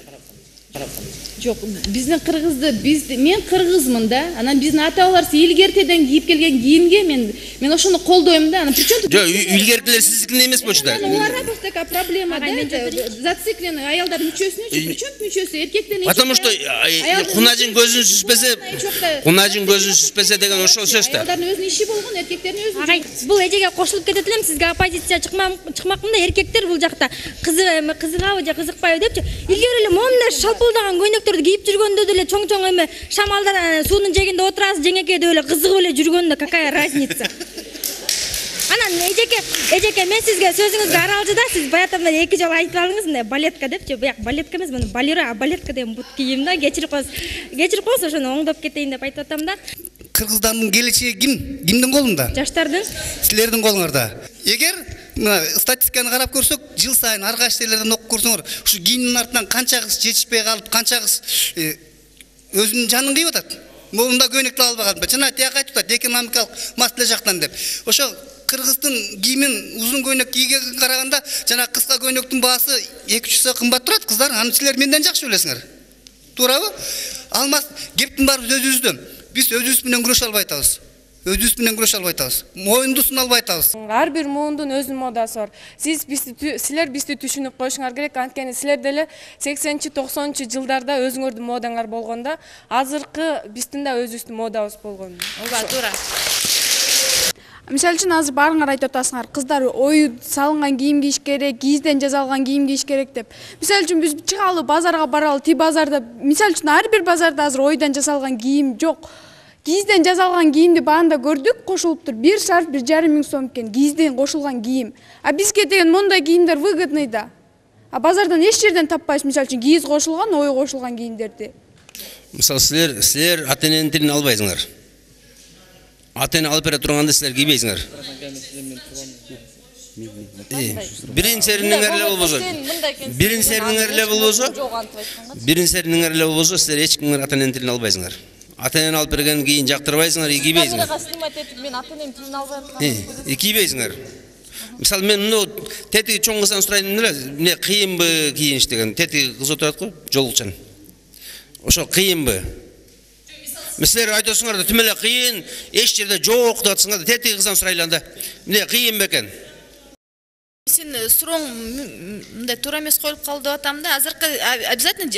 Speaker 4: Жок, биздин кыргызды мен кыргызмын да. Анан биздин ата-бабалар илгертеден кийип келген кийимге мен ошону колдойм да. Анан причем
Speaker 7: Жок, илгертилер сиздикин эмес болчу да.
Speaker 4: Оларга просто такая проблема да. Зациклены аялдар мүчөсүнө, причем мүчөсү эркектен.
Speaker 7: Потому что кунажын көзүн сүзбөсө деген ошол сөз да.
Speaker 4: Аялдардын өзүнүн иши болгон, эркектердин өзүнүн.
Speaker 18: Агай, бул эжеге кошулуп кетет элем, сизге оппозиция чыкмакмын да, эркектер бул жакта кызыгабы же кызыкпайбы депчи. Илгери эле момундай шалпылдаган көйнөктөрдү кийип жүргөндө деле чоң эме шамалдар суунун жегинде отурасыз жеңеке деп эле кызыгып эле жүргөндө какая разница. Анан эжеке мен сизге сөзүңүзгө аралжы да, сиз баягы эки жолу айтып алдыңыз мындай балетка депчи. Бияк балетка эмес, муну балеро, а балетка деген бут кийим да. Кечирип коесуз, ошону оңдоп кетейин деп айтып атам да.
Speaker 10: Кыргыздардын келечеги кимдин колунда?
Speaker 4: Жаштардын.
Speaker 10: Силердин колуңарда. Эгер статистиканы карап көрсөк, жыл сайын ар кайсы жерлерден окуп көрсөңөр, ушу кийимдин артынан канча кыз жетишпей калып, канча кыз өзүнүн жанын кыйып атат. Могунда көйнөктү албаган, жана тияк айтып атат, экономикалык маселе жактан деп. Ошо кыргыздын кийимин узун көйнөк кийгенге караганда, жана кыска көйнөктүн баасы 2-3 есе кымбат турат, кыздар. Аны силер менден жакшы билесиңер. Туурабы? Алмаз, кептин баары өзүбүздөн. Биз өзүбүз менен күрөшө албай атабыз. Моюнду суна албай атабыз.
Speaker 22: Ар бир муундун өзүнүн модасы бар. Силер бизди түшүнүп коюшуңар керек. Анткени силер деле 80-90 жылдарда өзүңөрдүн модаңар болгондо, азыркы биздин да өзүбүздүн модабыз болгон.
Speaker 4: Ооба, туура.
Speaker 12: Мисалы үчүн азыр баарыңар айтып атасыңар, кыздар ою салынган кийим кийиш керек, кийизден жасалган кийим кийиш керек деп. Мисалы үчүн биз чыгалы базарга баралы, ти базарда, мисалы үчүн ар бир базарда азыр ойдан жасалган кийим жок. Кийизден жасалган кийимди баанда көрдүк, кошулуптур. 1 шарф 1,5 миң сом экен, кийизден кошулган кийим. А бизге деген мондай кийимдер выгодный да. А базардан эч жерден таппайсыз, мисалы үчүн кийиз кошулган, ой кошулган кийимдерди.
Speaker 7: Мисалы силер ата-эненин тилин албайсыңар. Ата-эне алып бере турганда силер кийбейсиңер. Бирин сериңер эле болбосо, силер эч кимдин ата-эненин тилин албайсыңар. Ата-энен алып берген кийин жактырбайсыңар, кийбейсиңер.
Speaker 4: Мен ата-энем тилин албайм.
Speaker 7: Кийбейсиңер. Мисалы мен мына тетиги чоң кыздан сурайын эле, эмне кыйынбы кийиниш деген. Тетиги кыз отурат го, жолукчан. Ошо кыйынбы? Силер айтасыңар да тим эле кыйын, эч жерде жок деп атсыңар да, тетиги кыздан сурайлы анда. Эмне кыйын бекен?
Speaker 24: Сен сурооң мындай туура эмес коюлуп калды деп атам да. Азыркы обязательно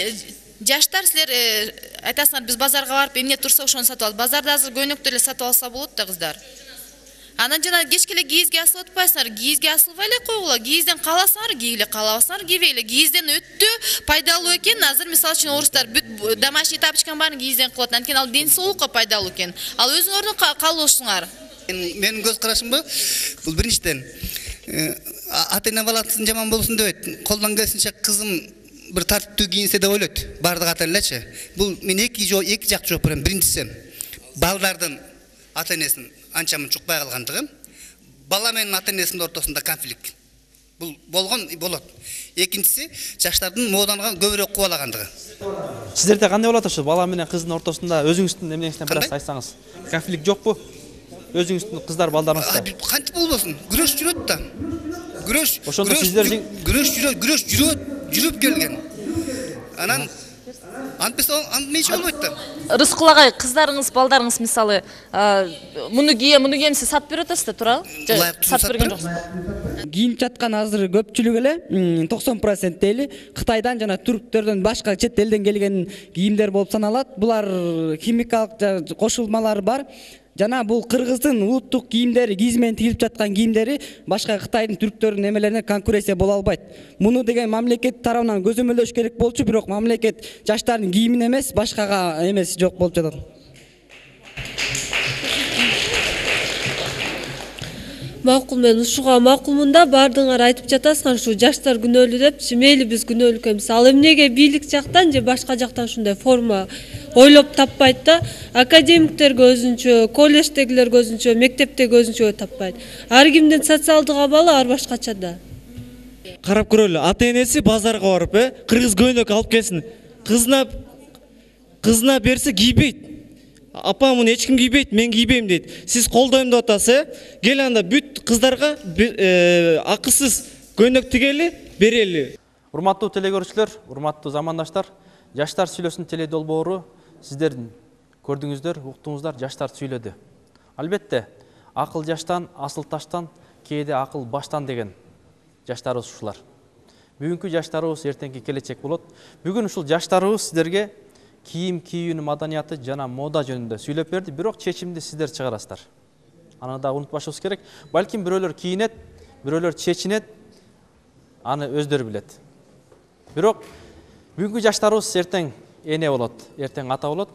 Speaker 24: жаштар силер айтасыңар, биз базарга барып эмне турса ошону сатып алып. Базарда азыр көйнөктү эле сатып алса болот да кыздар. Анан жана кечке эле кийизге асылып атпайсыңар. Кийизге асылбай эле койгула. Кийизден кааласаңар кийгиле, каалабасаңар кийбейле. Кийизден өтө пайдалуу экен. Азыр мисалы үчүн орустар бүт домашний тапочканы баарын кийизден кылат. Анткени ал ден соолукка пайдалуу экен. Ал өзүңөрдүн каалоосуңар.
Speaker 10: Менин көз карашымбы, бул биринчиден ата-эне баласын жаман болсун дебейт. Колдон келишинче кызым бир тартиптүү кийинсе деп ойлойт. Бардык ата-энелерчи. Бул мен эки жакты жооп берем. Биринчиси, балдардын ата-энесин анчамын чукпай калгандыгы, бала менен ата-энесинин ортосунда конфликт. Бул болгон болот. Экинчиси, жаштардын моданы көбүрөөк кубалагандыгы.
Speaker 5: Сиздерде кандай болот ошо бала менен кыздын ортосунда өзүңүздүн эмнеңизден бир аз айтсаңыз? Конфликт жокпу? Өзүңүздүн кыздар балдарыңызда?
Speaker 10: Кантип болбосун? Күрөш жүрөт да.
Speaker 5: Ошондо сиздер
Speaker 10: жүрүп келген. Анан антмечи болбойт да.
Speaker 8: Рыскул агай, кыздарыңыз, балдарыңыз мисалы, муну кийем сиз сатып берип атасыз да, туурабы? Сатып берген жоксуз.
Speaker 19: Кийинип жаткан азыр көпчүлүк эле 90% дейли Кытайдан жана түрктөрдөн башка чет элден келген кийимдер болуп саналат. Булар химикалык кошулмалары бар. жана бул кыргыздын улуттук кийимдери, кииз менен тигилип жаткан кийимдери башка Кытайдын, түрктөрдүн немелерине конкуренция боло албайт. Муну деген мамлекет тарабынан көзөмөлдөш керек болчу, бирок мамлекет жаштардын кийимине эмес, башкага эмес жок болуп жатат.
Speaker 21: Макул, мен ушуга макулмун да, баардыгыңар айтып жатасыңар ушу жаштар күнөөлүү деп. Мейли биз күнөөлүк эмес. Ал эмнеге бийлик жактан же башка жактан ушундай форма ойлоп таппайт да? Академиктерге өзүнчө, колледждегилерге өзүнчө, мектептеги өзүнчө таппайт. Ар кимдин социалдык абалы ар башкача да.
Speaker 6: Карап көрөлү, ата-энеси базарга барып, кыргыз көйнөк алып келсин. Кызына берсе кийбейт. Апа, муну эч ким кийбейт, мен кийбейм дейт. Сиз колдойм деп атасыз, кел анда бүт кыздарга акысыз көйнөк тигели, берели.
Speaker 5: Урматтуу телекөрүүчүлөр, урматтуу замандаштар, Жаштар сүйлөсүн теледолбоору сиздердин көрдүңүздөр, уктуңуздар, жаштар сүйлөдү. Албетте, акыл жаштан, асыл таштан, кээде акыл баштан деген жаштарыбыз ушулар. Бүгүнкү жаштарыбыз эртеңки келечек болот. Бүгүн ушул жаштарыбыз сиздерге кийим кийүүнүн маданияты жана мода жөнүндө сүйлөп берди, бирок чечимди сиздер чыгарасыздар. Аны да унутпашыбыз керек. Балким бирөөлөр кийинет, бирөөлөр чечинет, аны өздөрү билет. Бирок бүгүнкү жаштарыбыз эртең эне болот, эртең ата болот.